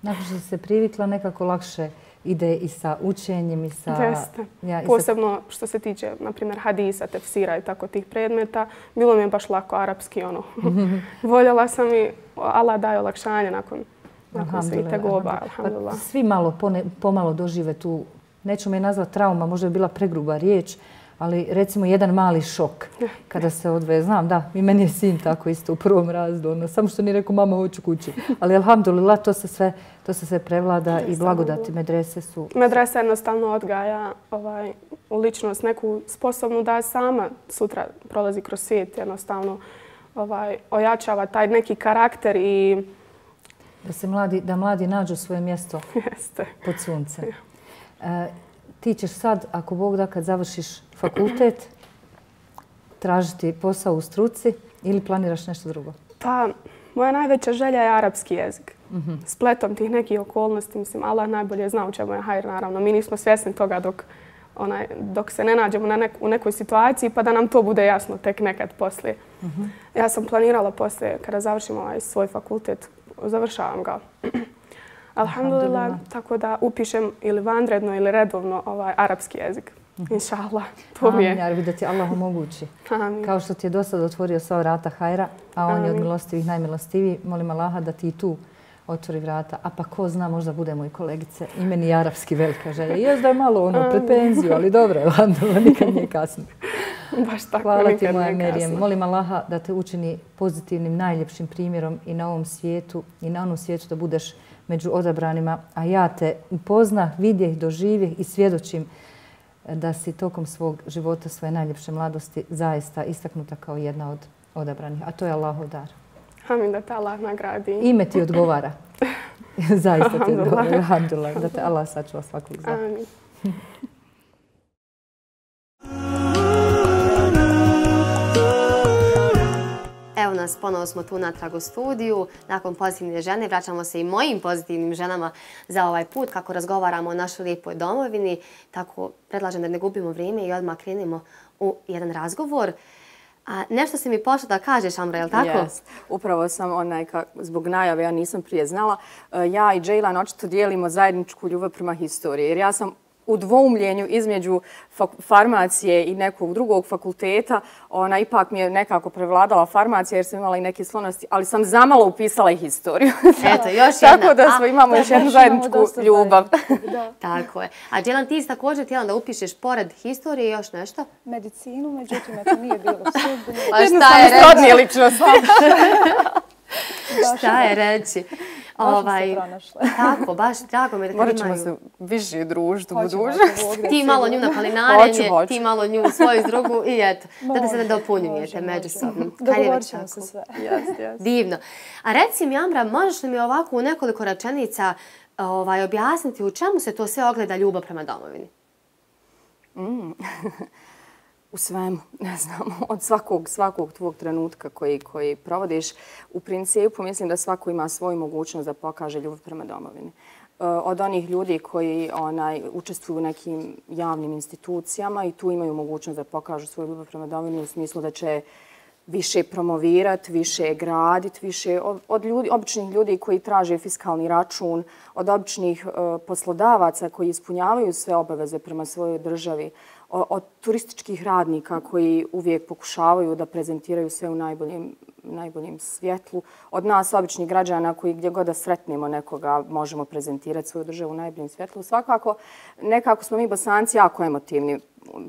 Nakon što se privikla, nekako lakše ide i sa učenjem i sa... Jeste. Ja, i posebno što se tiče, na primjer, hadisa, tefsira i tako tih predmeta. Bilo mi je baš lako arapski, ono. Voljela sam i Allah daje olakšanje nakon, nakon svih tegoba, alhamdulillah. Pa svi malo, pone, pomalo dožive tu, neću me nazvati trauma, možda je bila pregruba riječ, ali recimo jedan mali šok kada se odvoje. Znam, da, i meni je sin tako isto u prvom razredu, ono, samo što nije rekao mama hoću kući. Ali alhamdulillah, to se sve, to se sve prevlada i blagodati medrese su... Medresa jednostavno odgaja ovaj, u ličnost neku sposobnu da sama sutra prolazi kroz svijet, jednostavno ovaj, ojačava taj neki karakter i... Da se mladi, da mladi nađu svoje mjesto Jeste. pod suncem. E, ti ćeš sad, ako Bog da, kad završiš fakultet, tražiti posao u struci ili planiraš nešto drugo? Pa, moja najveća želja je arapski jezik. Mm-hmm. Spletom tih nekih okolnosti, mislim, Allah najbolje zna u čemu je hajr, naravno. Mi nismo svjesni toga dok, onaj, dok se ne nađemo na nek, u nekoj situaciji, pa da nam to bude jasno tek nekad poslije. Mm-hmm. Ja sam planirala poslije, kada završim ovaj svoj fakultet, završavam ga. Alhamdulillah, tako da upišem ili vanredno ili redovno ovaj arapski jezik. Mm-hmm. Inša Allah, to mi je. Amin, Jarbi, da ti Allah omogući. Amin. Kao što ti je do sada otvorio sva vrata hajra, a on Amin. je od milostivih najmilostiviji, molim Allaha da ti i tu otvori vrata. A pa ko zna, možda budemo i kolegice. I meni je arapski velika želja. Još da je malo ono, pred penziju, ali dobro, alhamdulillah, nikad nije kasno. Baš tako, Hvala nikad ti, moja nije Merijem. kasno. Molim Allaha da te učini pozitivnim, najljepšim primjerom i na ovom svijetu i na onom svijetu da budeš među odabranima, a ja te upoznah, vidjeh, doživjeh i svjedočim da si tokom svog života, svoje najljepše mladosti zaista istaknuta kao jedna od odabranih. A to je Allahov dar. Amin, da te Allah nagradi. Ime ti odgovara. Zaista ti odgovara. Alhamdulillah. Da te Allah sačuva svakog zla. Amin. Evo nas, ponovo smo tu natrag u studiju. Nakon pozitivne žene vraćamo se i mojim pozitivnim ženama za ovaj put kako razgovaramo o našoj lijepoj domovini. Tako predlažem da ne gubimo vrijeme i odmah krenemo u jedan razgovor. A nešto si mi pošla da kažeš, Amra, je li tako? Yes. Upravo sam onaj, ka, zbog najave, ja nisam prije znala, ja i Džejlan očito dijelimo zajedničku ljubav prema historiji. Jer ja sam u dvoumljenju između farmacije i nekog drugog fakulteta, ona ipak mi je nekako prevladala farmacija jer sam imala i neke sklonosti, ali sam zamalo upisala i historiju. Eto, još jedna. Tako da smo, imamo još jednu zajedničku ljubav. Tako je. A Džejlan, ti si također htjela da upišeš pored historije još nešto? Medicinu, međutim, eto nije bilo sudbeno. Pa šta je reći? Srodnije ličnosti. Šta je reći? Ovaj, tako, baš drago mi da kad Morat imaju... ćemo se više družiti u budućnosti. Ti malo nju na palinarenje, ti malo nju svoju drugu i eto, da da se ne dopunjujete međusobno. Dogovorit ćemo se sve. Yes, yes. Divno. A reci mi, Amra, možeš li mi ovako u nekoliko rečenica ovaj, objasniti u čemu se to sve ogleda ljubav prema domovini? Mm. U svemu, ne znam, od svakog, svakog tvog trenutka koji, koji provodiš. U principu mislim da svako ima svoju mogućnost da pokaže ljubav prema domovini. Od onih ljudi koji onaj, učestvuju u nekim javnim institucijama i tu imaju mogućnost da pokažu svoju ljubav prema domovini u smislu da će više promovirati, više graditi, više od ljudi, običnih ljudi koji traže fiskalni račun, od običnih uh, poslodavaca koji ispunjavaju sve obaveze prema svojoj državi, od turističkih radnika koji uvijek pokušavaju da prezentiraju sve u najboljem, najboljem svjetlu, od nas običnih građana koji gdje god da sretnemo nekoga možemo prezentirati svoju državu u najboljem svjetlu. Svakako, nekako smo mi Bosanci jako emotivni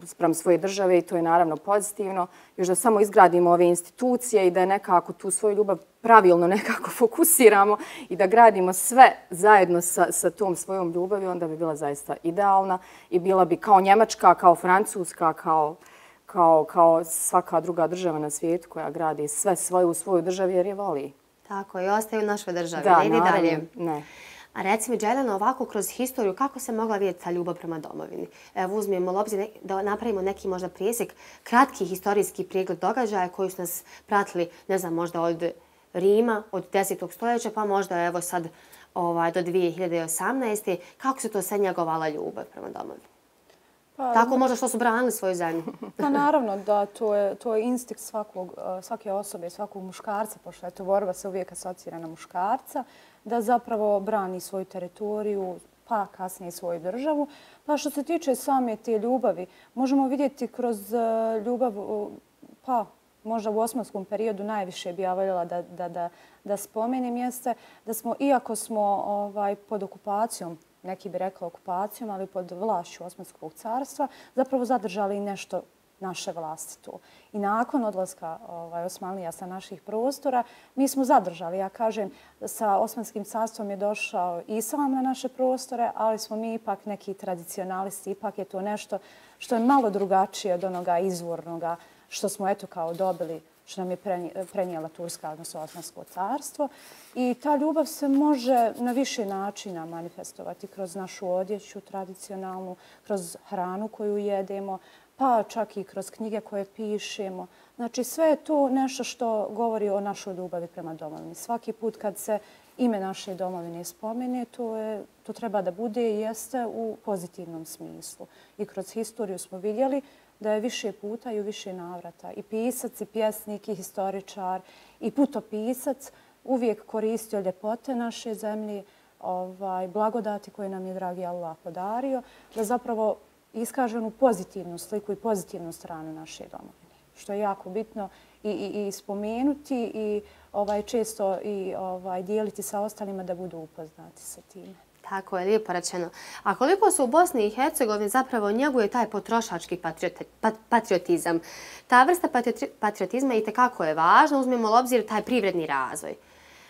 sprem svoje države i to je naravno pozitivno. Još da samo izgradimo ove institucije i da nekako tu svoju ljubav pravilno nekako fokusiramo i da gradimo sve zajedno sa, sa tom svojom ljubavi, onda bi bila zaista idealna i bila bi kao Njemačka, kao Francuska, kao, kao, kao svaka druga država na svijetu koja gradi sve svoje u svojoj državi jer je voli. Tako, i ostaju u našoj državi. Da, ne ide naravno, dalje. Ne. A reci mi, Džejlana, ovako kroz historiju, kako se mogla vidjeti ta ljubav prema domovini? Evo, uzmijemo u obzir da napravimo neki možda presjek, kratki historijski pregled događaja koji su nas pratili, ne znam, možda od Rima, od desetog stoljeća, pa možda evo sad ovaj, do dvije hiljade osamnaeste. Kako se to sve njegovala ljubav prema domovini? Pa, tako možda što su branili svoju zemlju. Pa naravno da to je, to je instinkt svakog, svake osobe, svakog muškarca, pošto je to borba se uvijek asocira na muškarca, da zapravo brani svoju teritoriju, pa kasnije svoju državu. Pa što se tiče same te ljubavi, možemo vidjeti kroz ljubav, pa možda u osmanskom periodu najviše bi ja voljela da, da, da, da spomenem jeste da smo, iako smo ovaj, pod okupacijom, neki bi rekli okupacijom, ali pod vlašću Osmanskog carstva, zapravo zadržali nešto naše vlasti tu. I nakon odlaska ovaj, Osmanlija sa naših prostora, mi smo zadržali, ja kažem, sa Osmanskim carstvom je došao islam na naše prostore, ali smo mi ipak neki tradicionalisti, ipak je to nešto što je malo drugačije od onoga izvornoga što smo eto kao dobili, što nam je prenijela Turska, odnosno Osmansko carstvo. I ta ljubav se može na više načina manifestovati kroz našu odjeću tradicionalnu, kroz hranu koju jedemo, pa čak i kroz knjige koje pišemo. Znači sve je to nešto što govori o našoj ljubavi prema domovini. Svaki put kad se ime naše domovine spomene, to, je, to treba da bude i jeste u pozitivnom smislu. I kroz historiju smo vidjeli da je više puta i u više navrata i pisac, i pjesnik, i historičar, i putopisac uvijek koristio ljepote naše zemlje, ovaj, blagodati koje nam je dragi Allah podario, da zapravo iskaže onu pozitivnu sliku i pozitivnu stranu naše domovine, što je jako bitno i, i, i spomenuti i ovaj, često i ovaj, dijeliti sa ostalima da budu upoznati sa time. Tako je, lijepo rečeno. A koliko se u Bosni i Hercegovini zapravo njeguje taj potrošački patriotizam? Ta vrsta patriotizma itekako je važna, uzmemo u obzir taj privredni razvoj.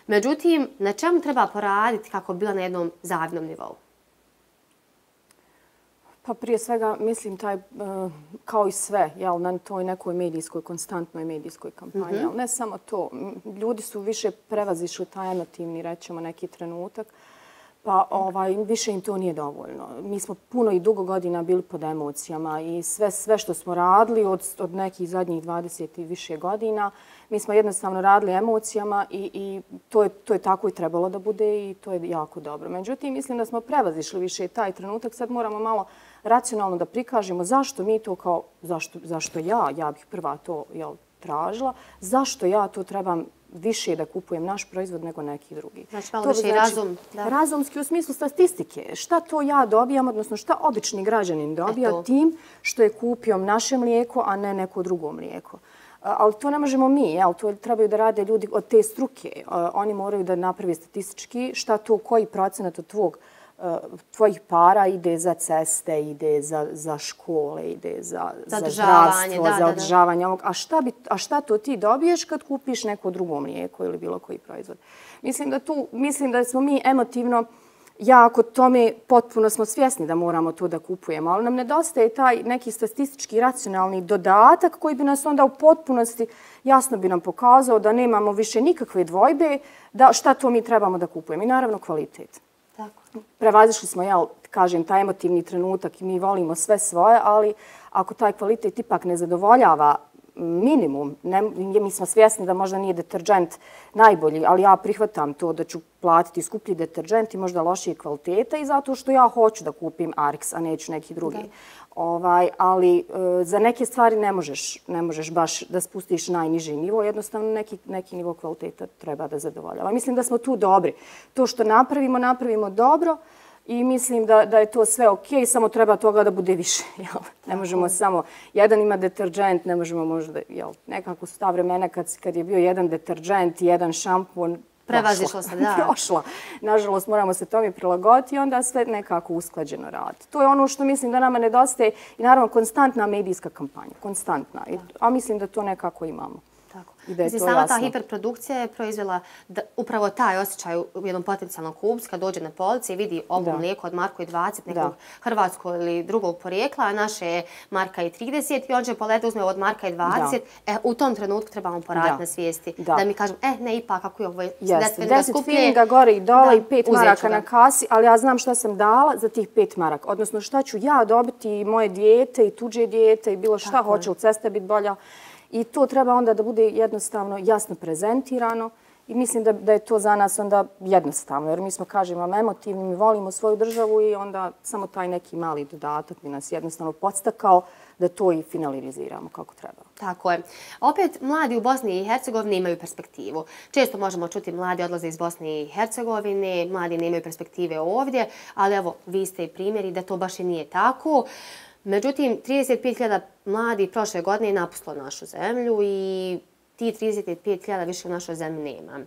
Međutim, na čemu treba poraditi kako bi bila na jednom zavidnom nivou? Pa prije svega mislim taj, kao i sve, jel, na toj nekoj medijskoj, konstantnoj medijskoj kampanji. Mm-hmm. Ne samo to, ljudi su više prevazišli taj emotivni, rećemo, neki trenutak. Pa ovaj, više im to nije dovoljno. Mi smo puno i dugo godina bili pod emocijama i sve, sve što smo radili od, od nekih zadnjih dvadeset i više godina, mi smo jednostavno radili emocijama i, i to, je, to je tako i trebalo da bude i to je jako dobro. Međutim, mislim da smo prevazišli više taj trenutak. Sad moramo malo racionalno da prikažemo zašto mi to kao, zašto, zašto ja, ja bih prva to jel, tražila, zašto ja to trebam više da kupujem naš proizvod nego neki drugi. Znači, malo više i razum. Da. Razumski u smislu statistike. Šta to ja dobijam, odnosno šta obični građanin dobija Eto. tim što je kupio naše mlijeko, a ne neko drugo mlijeko. Ali to ne možemo mi, jel? To trebaju da rade ljudi od te struke. Oni moraju da napravi statistički šta to, koji procenat od tvog tvojih para ide za ceste, ide za, za škole, ide za, za, za zdravstvo, da, za održavanje ovog. A šta, bi, a šta to ti dobiješ kad kupiš neko drugo mlijeko ili bilo koji proizvod? Mislim da, tu, mislim da smo mi emotivno jako tome potpuno smo svjesni da moramo to da kupujemo, ali nam nedostaje taj neki statistički racionalni dodatak koji bi nas onda u potpunosti jasno bi nam pokazao da nemamo više nikakve dvojbe da šta to mi trebamo da kupujemo. I naravno kvalitet. Tako. Prevazišli smo, ja kažem, taj emotivni trenutak i mi volimo sve svoje, ali ako taj kvalitet ipak ne zadovoljava minimum, ne, mi smo svjesni da možda nije deterđent najbolji, ali ja prihvatam to da ću platiti skuplji deterđent i možda lošije kvaliteta i zato što ja hoću da kupim Arix, a neću neki drugi. Da. Ovaj, ali e, za neke stvari ne možeš, ne možeš baš da spustiš najniži nivo, jednostavno neki, neki nivo kvaliteta treba da zadovoljava. Mislim da smo tu dobri. To što napravimo, napravimo dobro i mislim da, da je to sve ok, samo treba toga da bude više. Jel? Ne možemo samo, jedan ima deterđent, ne možemo možda, jel, nekako su ta vremena kad, kad je bio jedan deterđent i jedan šampon, prevazišla se, da. Prošla. Nažalost, moramo se tome prilagoditi i onda sve nekako usklađeno raditi. To je ono što mislim da nama nedostaje i naravno konstantna medijska kampanja. Konstantna. I, a mislim da to nekako imamo. Tako. Mislim, sama jasno. Ta hiperprodukcija je proizvela da, upravo taj osjećaj u jednom potencijalnom kupcu kad dođe na police i vidi ovo da. Mlijeko od marku i dvadeset nekog da. Hrvatskog ili drugog porijekla, a naše je marka i trideset i on će polete uzme od marka i dvadeset. Da. E, u tom trenutku trebamo poraditi na svijesti. Da. da mi kažem, e, ne, ipak, ako je ovo deset filinga gore i dole da. I pet maraka na kasi, ali ja znam šta sam dala za tih pet maraka. Odnosno šta ću ja dobiti i moje dijete i tuđe dijete i bilo šta tako hoće u ceste biti bolja. I to treba onda da bude jednostavno jasno prezentirano i mislim da, da je to za nas onda jednostavno. Jer mi smo, kažemo, emotivni, mi volimo svoju državu i onda samo taj neki mali dodatak bi nas jednostavno podstakao da to i finaliziramo kako treba. Tako je. Opet, mladi u Bosni i Hercegovini imaju perspektivu. Često možemo čuti mladi odlaze iz Bosne i Hercegovine, mladi nemaju perspektive ovdje, ali evo, vi ste i primjeri da to baš i nije tako. Međutim, trideset pet hiljada mladi prošle godine je napustilo našu zemlju i ti trideset pet hiljada više u našoj zemlji nema.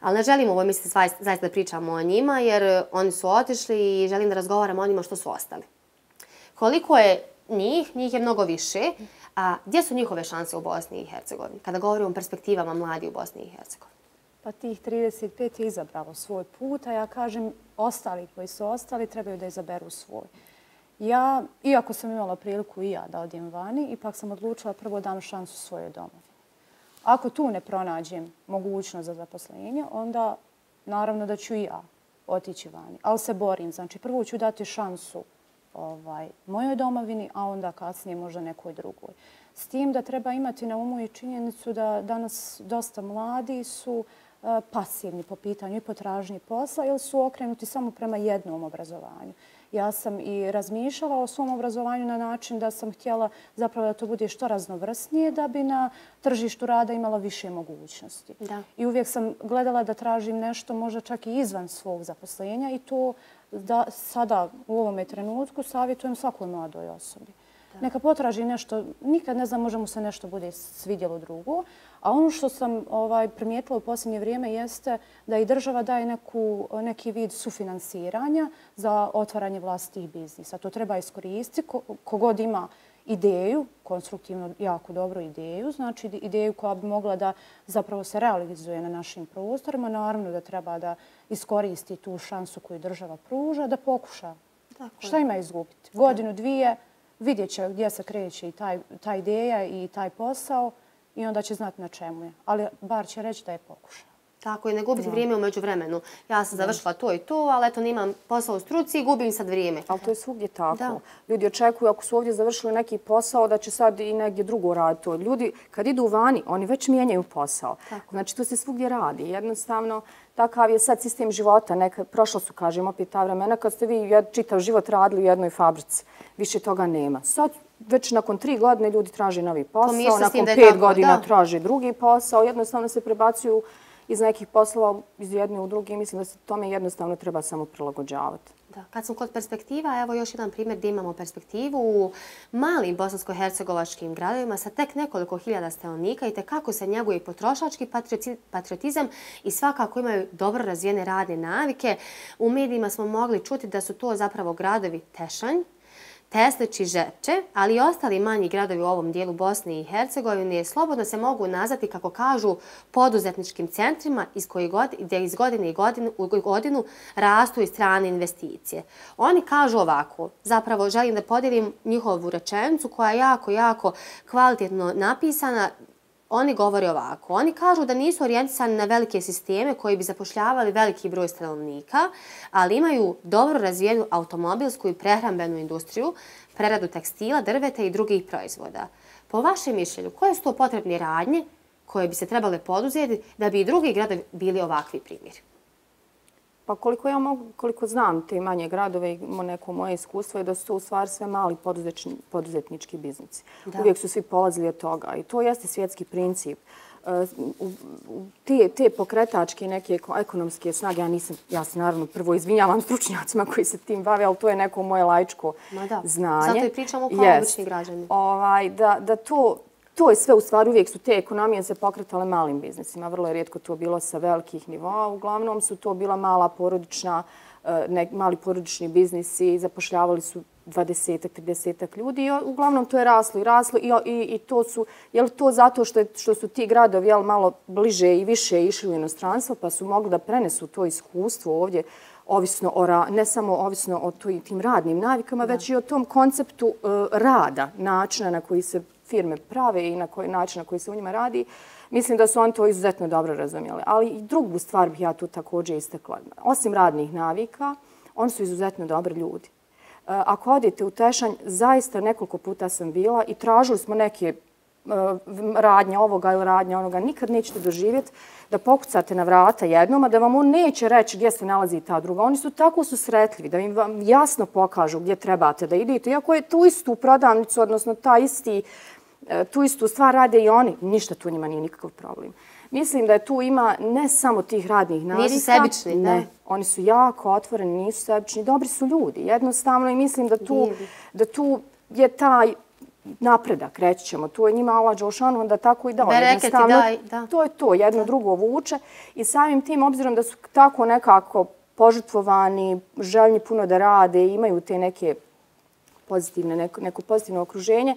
Ali ne želim ovo misliti zaista da pričamo o njima jer oni su otišli i želim da razgovaramo o njima što su ostali. Koliko je njih, njih je mnogo više, A gdje su njihove šanse u Bosni i Hercegovini? Kada govorimo o perspektivama mladi u Bosni i Hercegovini. Pa tih trideset pet je izabralo svoj put, a ja kažem ostali koji su ostali trebaju da izaberu svoj. Ja, iako sam imala priliku i ja da odem vani, ipak sam odlučila prvo dam šansu svojoj domovini. Ako tu ne pronađem mogućnost za zaposlenje, onda naravno da ću i ja otići vani. Ali se borim. Znači, prvo ću dati šansu ovaj, mojoj domovini, a onda kasnije možda nekoj drugoj. S tim da treba imati na umu i činjenicu da danas dosta mladi su uh, pasivni po pitanju i potražnji posla ili su okrenuti samo prema jednom obrazovanju. Ja sam i razmišljala o svom obrazovanju na način da sam htjela zapravo da to bude što raznovrsnije da bi na tržištu rada imala više mogućnosti. Da. I uvijek sam gledala da tražim nešto možda čak i izvan svog zaposlenja i to da sada u ovome trenutku savjetujem svakoj mladoj osobi. Da. Neka potraži nešto, nikad ne znam, možda mu se nešto bude svidjelo drugo. A ono što sam ovaj, primijetila u posljednje vrijeme jeste da i država daje neku, neki vid sufinansiranja za otvaranje vlastitih biznisa. To treba iskoristiti. Kogod ima ideju, konstruktivno jako dobru ideju, znači ideju koja bi mogla da zapravo se realizuje na našim prostorima, naravno da treba da iskoristi tu šansu koju država pruža, da pokuša. Tako. Šta ima izgubiti? Godinu, dvije, vidjet će gdje se kreće i taj, ta ideja i taj posao i onda će znati na čemu je. Ali bar će reći da je pokušao. Tako je, ne gubiti vrijeme u međuvremenu. Ja sam završila to i to, ali eto nemam posao u struci i gubim sad vrijeme. Ali to je svugdje tako. Ljudi očekuju ako su ovdje završili neki posao da će sad i negdje drugo raditi to. Ljudi kad idu vani, oni već mijenjaju posao. Tako. Znači to se svugdje radi. Jednostavno, takav je sad sistem života. Neka, prošla su, kažem, opet ta vremena kad ste vi čitav život radili u jednoj fabrici. Više toga nema. Sad već nakon tri godine ljudi traže novi posao, nakon pet godina traže drugi posao. Jednostavno se prebacuju iz nekih poslova iz jedne u drugi. Mislim da se tome jednostavno treba samo prilagođavati. Da. Kad sam kod perspektiva, evo još jedan primjer gdje imamo perspektivu u malim bosansko-hercegovačkim gradovima sa tek nekoliko hiljada stanovnika i tekako se njeguje potrošački patriotizam i svakako imaju dobro razvijene radne navike. U medijima smo mogli čuti da su to zapravo gradovi Tešanj, Teslić i Žepče, ali i ostali manji gradovi u ovom dijelu Bosne i Hercegovine slobodno se mogu nazvati, kako kažu, poduzetničkim centrima iz koji god, gdje iz godine i godinu, u godinu rastu i strane investicije. Oni kažu ovako, zapravo želim da podijelim njihovu rečenicu koja je jako, jako kvalitetno napisana. Oni govore ovako. Oni kažu da nisu orijentisani na velike sisteme koji bi zapošljavali veliki broj stanovnika, ali imaju dobro razvijenu automobilsku i prehrambenu industriju, preradu tekstila, drveta i drugih proizvoda. Po vašem mišljenju, koje su to potrebne radnje koje bi se trebale poduzeti da bi i drugi gradovi bili ovakvi primjeri? Pa koliko ja mogu, koliko znam te manje gradove i neko moje iskustvo je da su to u stvari sve mali poduzetnički biznisi. Da. Uvijek su svi polazili od toga i to jeste svjetski princip. Te, te pokretačke neke ekonomske snage, ja nisam, ja se naravno prvo izvinjavam stručnjacima koji se tim bave, ali to je neko moje laičko znanje. Zato i pričamo kao obični građani. Ovaj, da, da to, to je sve u stvari, uvijek su te ekonomije se pokretale malim biznisima. Vrlo je rijetko to bilo sa velikih nivoa. Uglavnom su to bila mala porodična, ne, mali porodični biznisi, zapošljavali su dvadesetak, tridesetak ljudi i uglavnom to je raslo i raslo i, i, i to su, je li to zato što, je, što su ti gradovi jel, malo bliže i više išli u inostranstvo pa su mogli da prenesu to iskustvo ovdje, ovisno o ra, ne samo ovisno o tim radnim navikama, da. Već i o tom konceptu uh, rada, načina na koji se firme prave i na koji način na koji se u njima radi. Mislim da su oni to izuzetno dobro razumjeli. Ali i drugu stvar bih ja tu također istakla. Osim radnih navika, oni su izuzetno dobri ljudi. Ako odete u Tešanj, zaista nekoliko puta sam bila i tražili smo neke radnje ovoga ili radnje onoga. Nikad nećete doživjeti da pokucate na vrata jednom, a da vam on neće reći gdje se nalazi ta druga. Oni su tako susretljivi da im vam jasno pokažu gdje trebate da idete. Iako je tu istu prodavnicu, odnosno ta isti, tu istu stvar rade i oni, ništa tu njima nije nikakav problem. Mislim da je tu ima ne samo tih radnih navika. Nisu sebični, da? Ne, oni su jako otvoreni, nisu sebični, dobri su ljudi. Jednostavno i mislim da tu, da tu je taj napredak, reći ćemo. Tu je njima Allah Đelšanu, onda tako i dao. Bereketi daj, da. To je to, jedno da. Drugo vuče. I samim tim, obzirom da su tako nekako požrtvovani, željni puno da rade, imaju te neke pozitivne, neko, neko pozitivno okruženje,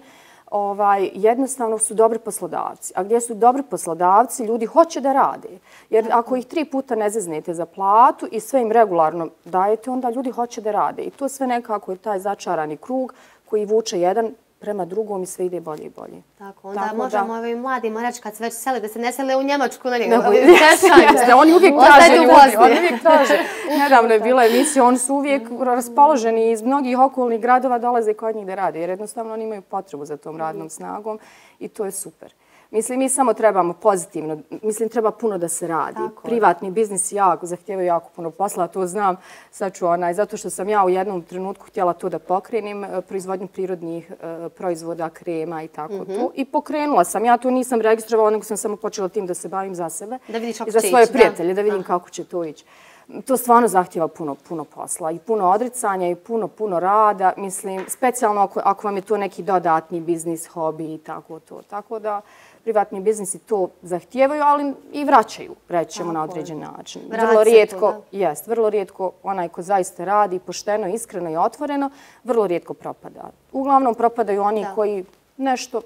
ovaj, jednostavno su dobri poslodavci. A gdje su dobri poslodavci, ljudi hoće da rade. Jer ako ih tri puta ne zeznete za platu i sve im regularno dajete, onda ljudi hoće da rade. I to sve nekako je taj začarani krug koji vuče jedan prema drugom i sve ide bolje i bolje. Tako, onda Tako možemo ovim mladima reći kad se već sele, da se ne sele u Njemačku na njega. Oni uvijek traže ljudi, oni uvijek traže. Nedavno je bila emisija, oni su uvijek raspoloženi iz mnogih okolnih gradova dolaze kod njih da rade, jer jednostavno oni imaju potrebu za tom radnom snagom i to je super. Mislim, mi samo trebamo pozitivno, mislim, treba puno da se radi. Tako, privatni biznis jako, zahtijevaju jako puno posla, to znam. Sad ću onaj, zato što sam ja u jednom trenutku htjela to da pokrenim, proizvodnju prirodnih uh, proizvoda, krema i tako mm-hmm. to. I pokrenula sam. Ja to nisam registrovala, nego sam samo počela tim da se bavim za sebe. Da vidiš kako i za svoje ići, prijatelje, da, da vidim Aha. kako će to ići. To stvarno zahtjeva puno, puno posla i puno odricanja i puno, puno rada. Mislim, specijalno ako, ako vam je to neki dodatni biznis, hobi i tako to. Tako da privatni biznisi to zahtijevaju, ali i vraćaju, rećemo na određen način. Vrlo rijetko, jest, vrlo rijetko onaj ko zaista radi pošteno, iskreno i otvoreno, vrlo rijetko propada. Uglavnom propadaju oni da. koji nešto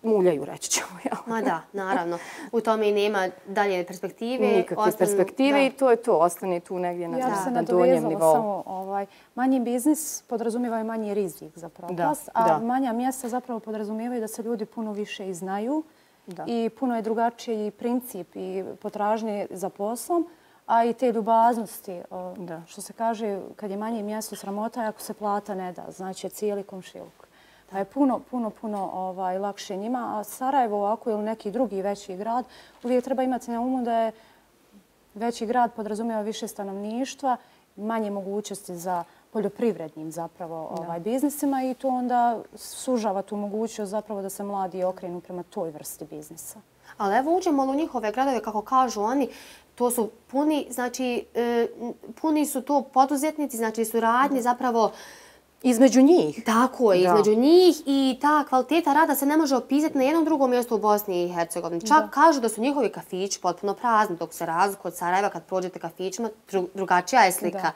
muljaju, reći ćemo. Ja. Ma da, naravno. U tome i nema dalje perspektive. Nikakve ostane, perspektive da. i to je to. Ostane tu negdje na, ja na, se na donjem nivou. Samo, ovaj, manji biznis podrazumijeva i manji rizik za propast, a da. manja mjesta zapravo podrazumijevaju da se ljudi puno više i znaju. Da. I puno je drugačiji princip i potražnje za poslom, a i te ljubaznosti. Da. Što se kaže, kad je manje mjesto sramota, ako se plata ne da, znači cijeli komšiluk. Pa je puno, puno, puno ovaj, lakše njima. A Sarajevo ovako ili neki drugi veći grad, uvijek treba imati na umu da je veći grad podrazumijeva više stanovništva, manje mogućnosti za poljoprivrednim zapravo ovaj, biznisima i to onda sužava tu mogućnost zapravo da se mladi okrenu prema toj vrsti biznisa. Ali evo uđemo u njihove gradove, kako kažu oni, to su puni, znači, e, puni su to poduzetnici, znači su radnji zapravo između njih. Tako je, između njih i ta kvaliteta rada se ne može opisati na jednom drugom mjestu u Bosni i Hercegovini. Čak da. kažu da su njihovi kafići potpuno prazni, dok se razliku od Sarajeva kad prođete kafićima, dru, drugačija je slika. Da.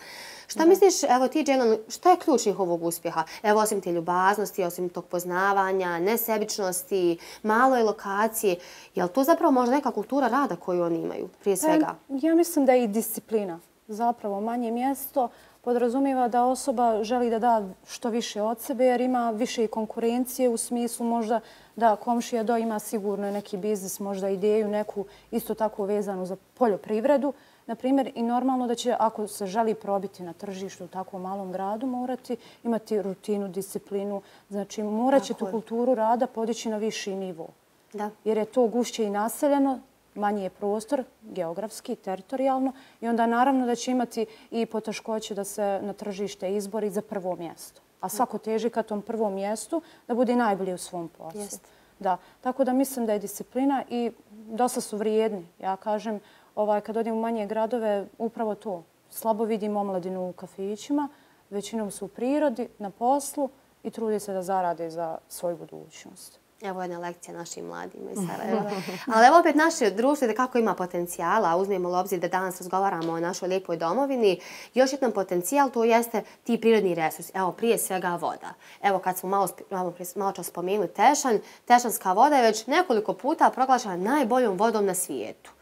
Šta da. misliš, evo ti, Džejlan, šta je ključ njihovog uspjeha? Evo, osim te ljubaznosti, osim tog poznavanja, nesebičnosti, maloj lokacije, je li to zapravo možda neka kultura rada koju oni imaju, prije svega? Ja mislim da je i disciplina. Zapravo, manje mjesto podrazumijeva da osoba želi da da što više od sebe jer ima više i konkurencije u smislu možda da komšija do ima sigurno neki biznis, možda ideju neku isto tako vezanu za poljoprivredu. Naprimjer, i normalno da će, ako se želi probiti na tržištu u takvom malom gradu, morati imati rutinu, disciplinu. Znači, morat će tu kulturu rada podići na viši nivo. Da. Jer je to gušće i naseljeno, manji je prostor, geografski, teritorijalno, i onda naravno da će imati i poteškoće da se na tržište izbori za prvo mjesto. A svako teži ka tom prvom mjestu da bude najbolji u svom poslu. Jest. Da. Tako da mislim da je disciplina i dosta su vrijedni. Ja kažem, ovaj, kad odem u manje gradove, upravo to. Slabo vidim omladinu u kafićima, većinom su u prirodi, na poslu i trudi se da zarade za svoju budućnost. Evo jedna lekcija našim mladima iz Sarajeva. Ali evo opet naše društvo da kako ima potencijala, uzmemo u obzir da danas razgovaramo o našoj lijepoj domovini. Još jedan potencijal to jeste ti prirodni resursi. Evo prije svega voda. Evo kad smo malo, malo, malo čas spomenuli Tešanj, Tešanska voda je već nekoliko puta proglašena najboljom vodom na svijetu.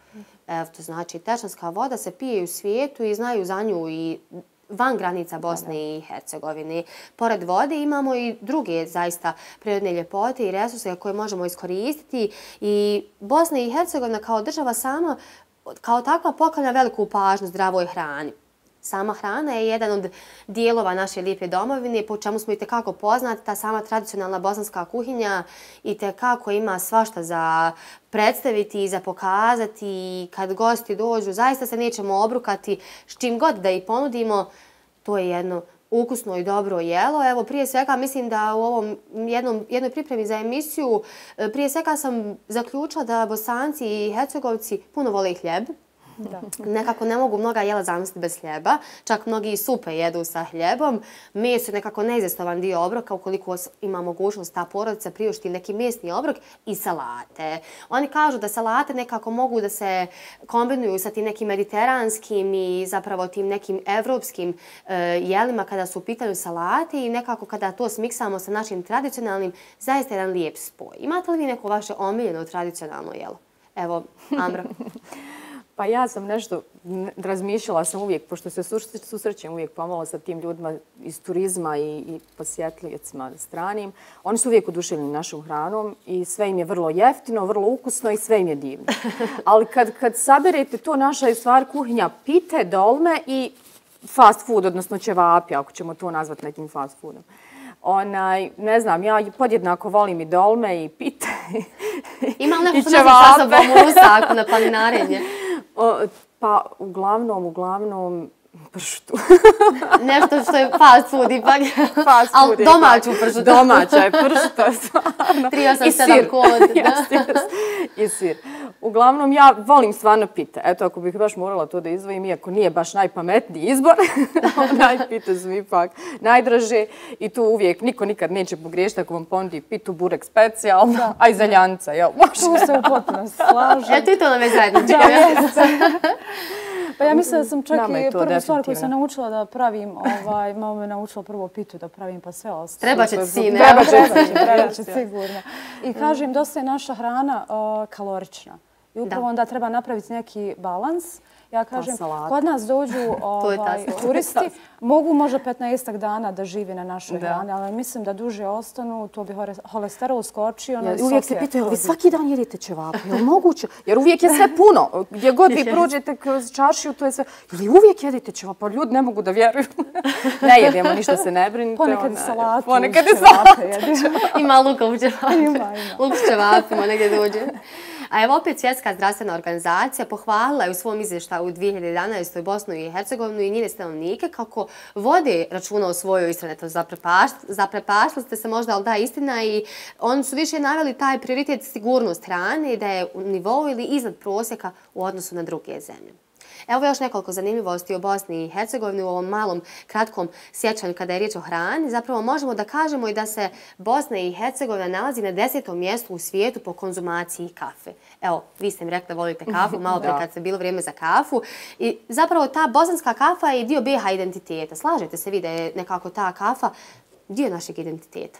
Evo to znači Tešanska voda se pije u svijetu i znaju za nju i van granica Bosne i Hercegovine. Pored vode imamo i druge zaista prirodne ljepote i resurse koje možemo iskoristiti i Bosna i Hercegovina kao država sama kao takva poklanja veliku pažnju zdravoj hrani. Sama hrana je jedan od dijelova naše lijepe domovine, po čemu smo i tekako poznati. Ta sama tradicionalna bosanska kuhinja i tekako ima svašta za predstaviti i za pokazati. I kad gosti dođu, zaista se nećemo obrukati s čim god da ih ponudimo. To je jedno ukusno i dobro jelo. Evo, prije svega mislim da u ovom jednom, jednoj pripremi za emisiju, prije svega sam zaključila da Bosanci i Hercegovci puno vole hljeb. Nekako ne mogu mnoga jela zamisliti bez hljeba. Čak mnogi i supe jedu sa hljebom. Meso je nekako neizostavan dio obroka ukoliko ima mogućnost ta porodica priušti neki mesni obrok i salate. Oni kažu da salate nekako mogu da se kombinuju sa tim nekim mediteranskim i zapravo tim nekim evropskim jelima kada su u pitanju salate i nekako kada to smiksamo sa našim tradicionalnim, zaista je jedan lijep spoj. Imate li vi neko vaše omiljeno tradicionalno jelo? Evo, Amra. Pa ja sam nešto razmišljala sam uvijek, pošto se susrećem uvijek pomalo sa tim ljudima iz turizma i, i posjetljivicima stranim. Oni su uvijek oduševljeni našom hranom i sve im je vrlo jeftino, vrlo ukusno i sve im je divno. Ali kad, kad saberete to, naša je stvar kuhinja pite, dolme i fast food, odnosno ćevapi, ako ćemo to nazvati nekim fast foodom. Onaj, ne znam, ja podjednako volim i dolme i pite Ima li neko što nosi sa sobom u rusaku na planinarenje? O, pa uglavnom, uglavnom pršutu. Nešto što je fast food ipak. Fast food ali domaću pršutu. Domaća je pršuta, stvarno. tri osam sedam kod. Jeste, jeste. I sir. Uglavnom, ja volim stvarno pite. Eto, ako bih baš morala to da izdvojim, iako nije baš najpametniji izbor, najpite su ipak najdraže. I tu uvijek niko nikad neće pogriješiti ako vam ponudi pitu, burek specijalno, a i zeljanca, jel? Tu se u potpunosti slažem. Eto i to nam je zajedničko. Da, jeste. Pa ja mislim da sam čak i prvu stvar koju sam naučila da pravim, ovaj, mama me naučila prvo pitu da pravim pa sve ostalo. Treba će sine. Treba će, treba će, sigurno. I kažem, dosta je naša hrana uh, kalorična. I upravo onda treba napraviti neki balans. Ja kažem, kod nas dođu ovaj, turisti, mogu možda petnaestak dana da živi na našoj hrani, ali mislim da duže ostanu, to bi holesterol skočio. Ja, uvijek se pitaju, vi svaki dan jedete ćevape, je li moguće? Jer uvijek je sve puno. Gdje god vi prođete kroz čaršiju, to je sve. Ili uvijek jedete ćevape, pa ljudi ne mogu da vjeruju. Ne jedemo, ništa se ne brinite. Ponekad i salatu. Ponekad i salatu. Ima luka u ćevapima. Ima, ima. Luk u ćevapima negdje dođe. A evo opet Svjetska zdravstvena organizacija pohvalila je u svom izvještaju u dvije hiljade jedanaestoj. Bosnu i Hercegovinu i njene stanovnike kako vode računa o svojoj ishrani. Zaprepaštili ste se možda, ali da, istina, i oni su više naveli taj prioritet sigurnost hrane i da je u nivou ili iznad prosjeka u odnosu na druge zemlje. Evo još nekoliko zanimljivosti o Bosni i Hercegovini u ovom malom, kratkom sjećanju kada je riječ o hrani. Zapravo možemo da kažemo i da se Bosna i Hercegovina nalazi na desetom mjestu u svijetu po konzumaciji kafe. Evo, vi ste mi rekli da volite kafu, malo prije kad se bilo vrijeme za kafu. I zapravo ta bosanska kafa je dio B iH identiteta. Slažete se vi da je nekako ta kafa dio našeg identiteta?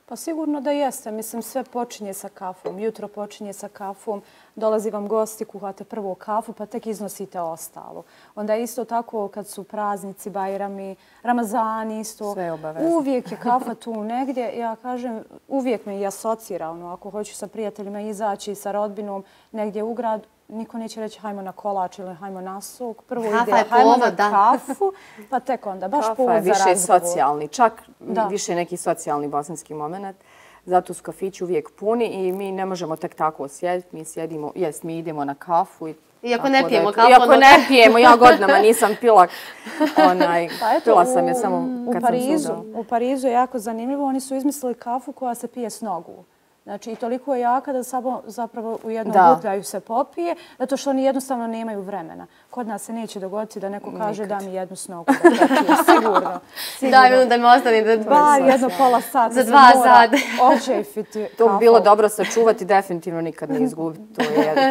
Pa sigurno da jeste. Mislim, sve počinje sa kafom. Jutro počinje sa kafom. Dolazi vam gosti, kuhate prvo kafu, pa tek iznosite ostalo. Onda je isto tako kad su praznici, bajrami, Ramazani isto. Sve obavezno. Uvijek je kafa tu negdje. Ja kažem, uvijek me i asocira. Ono, ako hoću sa prijateljima izaći, sa rodbinom, negdje u grad, niko neće reći hajmo na kolač ili hajmo na sok. Prvo ide hajmo na kafu, pa tek onda. Baš povod za razgovor. Kafa je više socijalni, čak više neki socijalni bosanski moment. Zato su kafići uvijek puni i mi ne možemo tek tako sjediti. Mi sjedimo, jest, mi idemo na kafu. Iako ne pijemo kafu. Iako ne pijemo, ja godinama nisam pila. Pila sam je samo kad sam sudala. U Parizu je jako zanimljivo. Oni su izmislili kafu koja se pije s nogu. Znači, i toliko je jaka da samo zapravo u jednom gutljaju se popije, zato što oni jednostavno nemaju vremena. Kod nas se neće dogoditi da neko kaže da mi jednu snogu da popije. Sigurno. Da, da mi ostane da... Bar jedno pola sata za dva sata. Očefiti kafu. To bi bilo dobro sačuvati, definitivno nikad ne izgubiti.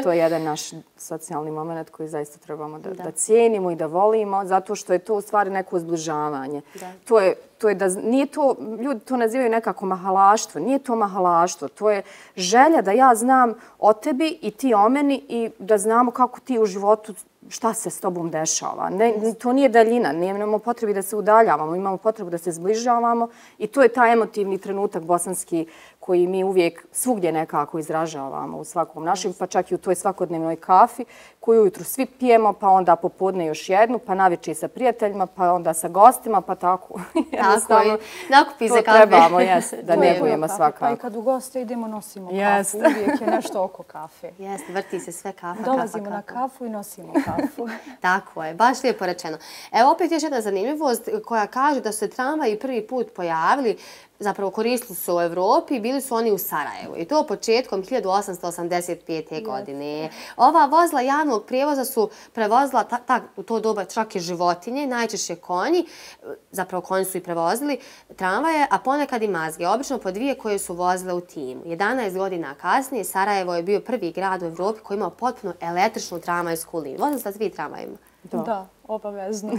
To je jedan naš socijalni moment koji zaista trebamo da cijenimo i da volimo, zato što je to u stvari neko zbližavanje. To je To je da nije to, ljudi to nazivaju nekako mahalaštvo, nije to mahalaštvo, to je želja da ja znam o tebi i ti o meni i da znamo kako ti u životu, šta se s tobom dešava. Ne, to nije daljina, nemamo potrebi da se udaljavamo, imamo potrebu da se zbližavamo i to je taj emotivni trenutak bosanski koji mi uvijek svugdje nekako izražavamo u svakom našem, pa čak i u toj svakodnevnoj kafi koju ujutru svi pijemo, pa onda popodne još jednu, pa navečer sa prijateljima, pa onda sa gostima, pa tako. Tako je. Nakupi za kafe. To trebamo, jes, da negujemo svakako. Pa i kad u goste idemo, nosimo kafu. Uvijek je nešto oko kafe. Jeste, vrti se sve kafa, kafa, Dolazimo na kafu i nosimo kafu. Tako je, baš lijepo rečeno. Evo opet još jedna zanimljivost koja kaže da su se tramvaji prvi put pojavili zapravo koristili su u Evropi, bili su oni u Sarajevu. I to početkom hiljadu osamsto osamdeset pete. godine. Ova vozila javnog prijevoza su prevozila ta, ta, u to doba čak i životinje, najčešće konji, zapravo konji su i prevozili tramvaje, a ponekad i mazge, obično po dvije koje su vozile u timu. jedanaest godina kasnije Sarajevo je bio prvi grad u Evropi koji imao potpuno električnu tramvajsku liniju. Vozili ste svi tramvajima? Da, da, obavezno.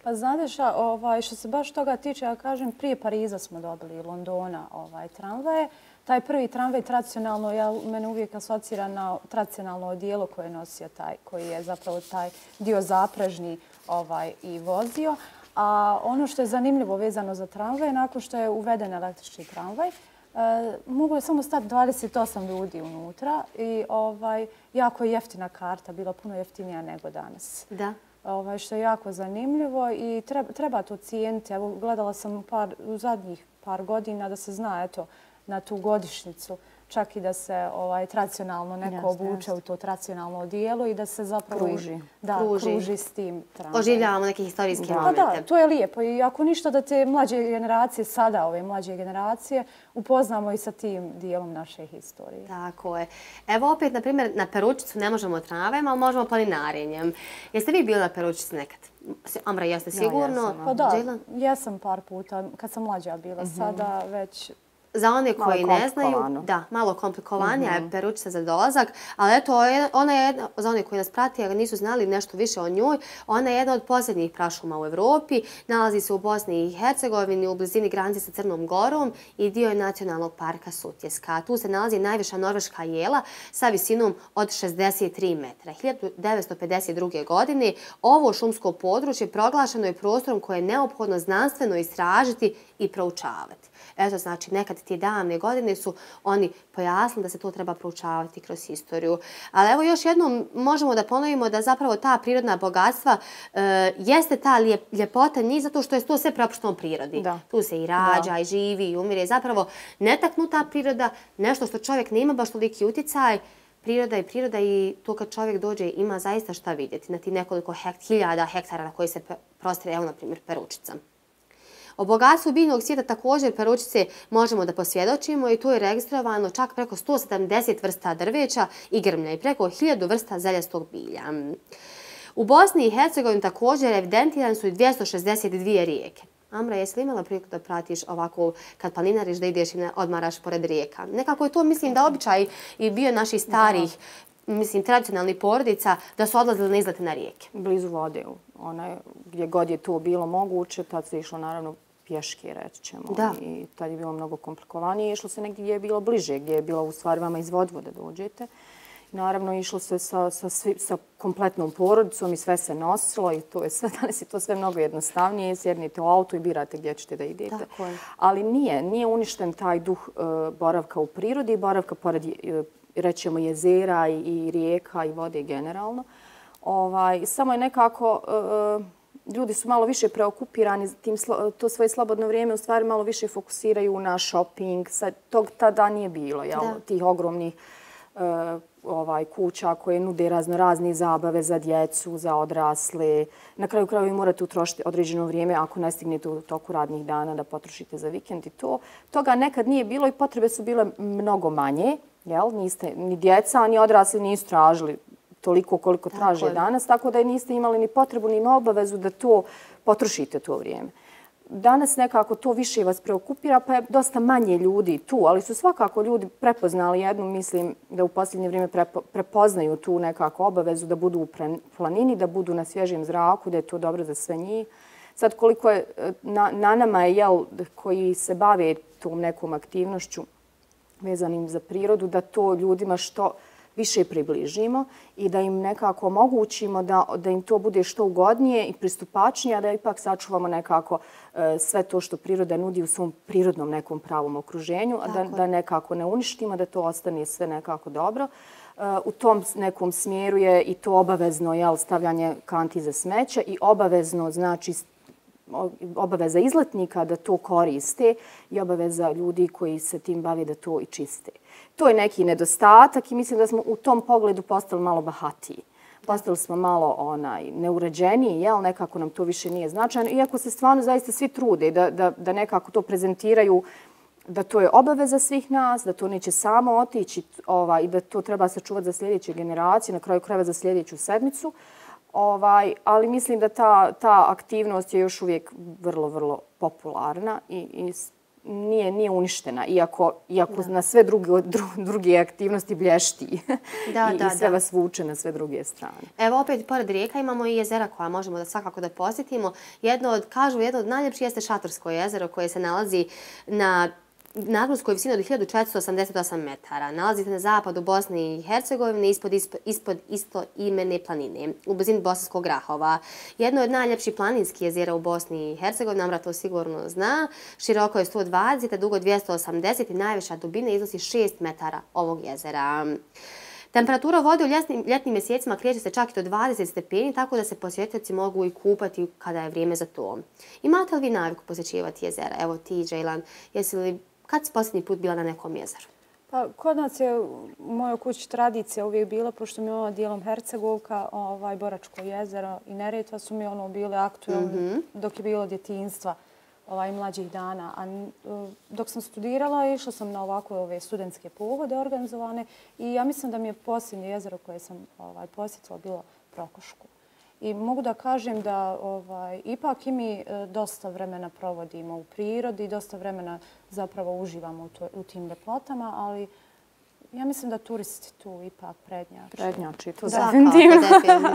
Pa znate šta, ovaj, što se baš toga tiče, ja kažem, prije Pariza smo dobili Londona ovaj, tramvaje. Taj prvi tramvaj tradicionalno, ja, mene uvijek asocira na tradicionalno odijelo koje je nosio taj, koji je zapravo taj dio zaprežni ovaj, i vozio. A ono što je zanimljivo vezano za tramvaj, nakon što je uveden električni tramvaj, E, mogu je samo stati dvadeset osam ljudi unutra i ovaj, jako je jeftina karta, bila puno jeftinija nego danas. Da. Ovaj, što je jako zanimljivo i treba, treba to cijeniti. Evo, gledala sam par, u zadnjih par godina da se zna eto, na tu godišnjicu, čak i da se ovaj, tradicionalno neko jasne, obuče jasne. u to tradicionalno odijelo i da se zapravo kruži, da, kruži. kruži s tim tramvajem. Oživljavamo neke historijske da. momente. Da, to je lijepo i ako ništa da te mlađe generacije, sada ove mlađe generacije, upoznamo i sa tim dijelom naše historije. Tako je. Evo opet, na primjer, na Peručicu ne možemo tramvajem, ali možemo planinarenjem. Jeste vi bili na Peručici nekad? Amra, jeste sigurno? Ja, jesam. Pa da, Džela? jesam par puta, kad sam mlađa bila, mm-hmm. sada već... Za one koji ne znaju, da, malo komplikovanija je mm-hmm. Peručica za dolazak, ali eto, ona je jedna, za one koji nas prati, a nisu znali nešto više o njoj, ona je jedna od posljednjih prašuma u Evropi, nalazi se u Bosni i Hercegovini, u blizini granice sa Crnom Gorom i dio je nacionalnog parka Sutjeska. Tu se nalazi najviša norveška jela sa visinom od šezdeset tri metra. hiljadu devetsto pedeset druge. godine ovo šumsko područje proglašeno je prostorom koje je neophodno znanstveno istražiti i proučavati. Eto, znači, nekad ti davne godine su oni pojasnili da se to treba proučavati kroz historiju. Ali evo još jednom možemo da ponovimo da zapravo ta prirodna bogatstva e, jeste ta lijep, ljepota njih zato što je to sve prepušteno prirodi. Da. Tu se i rađa, da. i živi, i umire. Zapravo netaknuta priroda, nešto što čovjek nema baš toliki utjecaj, priroda je priroda i to kad čovjek dođe ima zaista šta vidjeti na ti nekoliko hekt, hiljada hektara na koji se prostire, evo na primjer Peručica. O bogatstvu biljnog svijeta također Peručice možemo da posvjedočimo i tu je registrovano čak preko sto sedamdeset vrsta drveća i grmlja i preko hiljadu vrsta zeljastog bilja. U Bosni i Hercegovini također evidentirane su i dvjesto šezdeset dvije rijeke. Amra, jesi li imala priliku da pratiš ovako kad planinariš da ideš i odmaraš pored rijeka? Nekako je to, mislim, da običaj i bio naših starih, da. mislim, tradicionalnih porodica da su odlazili na izlete na rijeke. Blizu vode. Ona, gdje god je to bilo moguće, tad se išlo naravno pješke, reći ćemo. Da. I tad je bilo mnogo komplikovanije. Išlo se negdje gdje je bilo bliže, gdje je bilo u stvari vama iz Vodvode dođete. I naravno išlo se sa, sa, svi, sa kompletnom porodicom i sve se nosilo i to je sve, danas je to sve mnogo jednostavnije. Sjednite u auto i birate gdje ćete da idete. Tako je. Ali nije, nije uništen taj duh uh, boravka u prirodi i boravka pored, uh, rećemo, jezera i, i rijeka i vode generalno. Ovaj, samo je nekako, uh, ljudi su malo više preokupirani, tim, to svoje slobodno vrijeme u stvari malo više fokusiraju na shopping. Sad, tog tada nije bilo, jel? Tih ogromnih uh, ovaj, kuća koje nude razno razne zabave za djecu, za odrasle. Na kraju kraju vi morate utrošiti određeno vrijeme ako ne stignete u toku radnih dana da potrošite za vikend i to. Toga nekad nije bilo i potrebe su bile mnogo manje. Jel? Niste, ni djeca, ni odrasli nisu tražili toliko koliko traže danas, tako da niste imali ni potrebu ni obavezu da to potrošite to vrijeme. Danas nekako to više vas preokupira, pa je dosta manje ljudi tu, ali su svakako ljudi prepoznali jednu, mislim da u posljednje vrijeme prepo, prepoznaju tu nekako obavezu da budu u planini, da budu na svježem zraku, da je to dobro za sve njih. Sad koliko je na, na nama je, jel, koji se bave tom nekom aktivnošću vezanim za prirodu, da to ljudima što više približimo i da im nekako omogućimo da, da im to bude što ugodnije i pristupačnije, a da ipak sačuvamo nekako e, sve to što priroda nudi u svom prirodnom nekom pravom okruženju, a da, da nekako ne uništimo, da to ostane sve nekako dobro. E, u tom nekom smjeru je i to obavezno, jel, stavljanje kanti za smeće i obavezno, znači, obaveza izletnika da to koriste i obaveza ljudi koji se tim bave da to i čiste. To je neki nedostatak i mislim da smo u tom pogledu postali malo bahatiji. Postali smo malo onaj, neuređeniji, jel? Nekako nam to više nije značajno. Iako se stvarno zaista svi trude da, da, da nekako to prezentiraju, da to je obaveza svih nas, da to neće samo otići ovaj, i da to treba sačuvati za sljedeće generacije, na kraju krajeva za sljedeću sedmicu. Ovaj, ali mislim da ta, ta aktivnost je još uvijek vrlo, vrlo popularna i, i nije, nije uništena, iako, iako na sve druge, dru, druge aktivnosti blješti da, i, da, i sve da. vas vuče na sve druge strane. Evo opet, pored rijeka imamo i jezera koja možemo da svakako da posjetimo. Jedno od, kažu, jedno od najljepših jeste Šatorsko jezero koje se nalazi na nadmorskoj visini od hiljadu četiristo osamdeset osam metara. Nalazite na zapadu Bosne i Hercegovine ispod, ispod, ispod istoimene planine, u blizini Bosanskog Grahova. Jedno od najljepših planinskih jezera u Bosni i Hercegovini, Amra to sigurno zna. Široko je sto dvadeset, a dugo dvjesto osamdeset i najviša dubina iznosi šest metara ovog jezera. Temperatura vode u ljetnim, ljetnim mjesecima kreće se čak i do dvadeset stepeni, tako da se posjetioci mogu i kupati kada je vrijeme za to. Imate li vi naviku posjećivati jezera? Evo ti, Džejlan, jesi li, kad si posljednji put bila na nekom jezeru? Pa, kod nas je u mojoj kući tradicija uvijek bila, pošto mi je ono dijelom Hercegovka, ovaj, Boračko jezero i Neretva su mi ono bile aktualne mm-hmm. dok je bilo djetinjstva. Ovaj, mlađih dana. A dok sam studirala, išla sam na ovakve ove studentske pohode organizovane i ja mislim da mi je posljednje jezero koje sam ovaj, posjetila bilo Prokoško. I mogu da kažem da ovaj, ipak i mi dosta vremena provodimo u prirodi, dosta vremena zapravo uživamo u, to, u tim ljepotama, ali ja mislim da turisti tu ipak prednjači. Prednjači, to definitivno.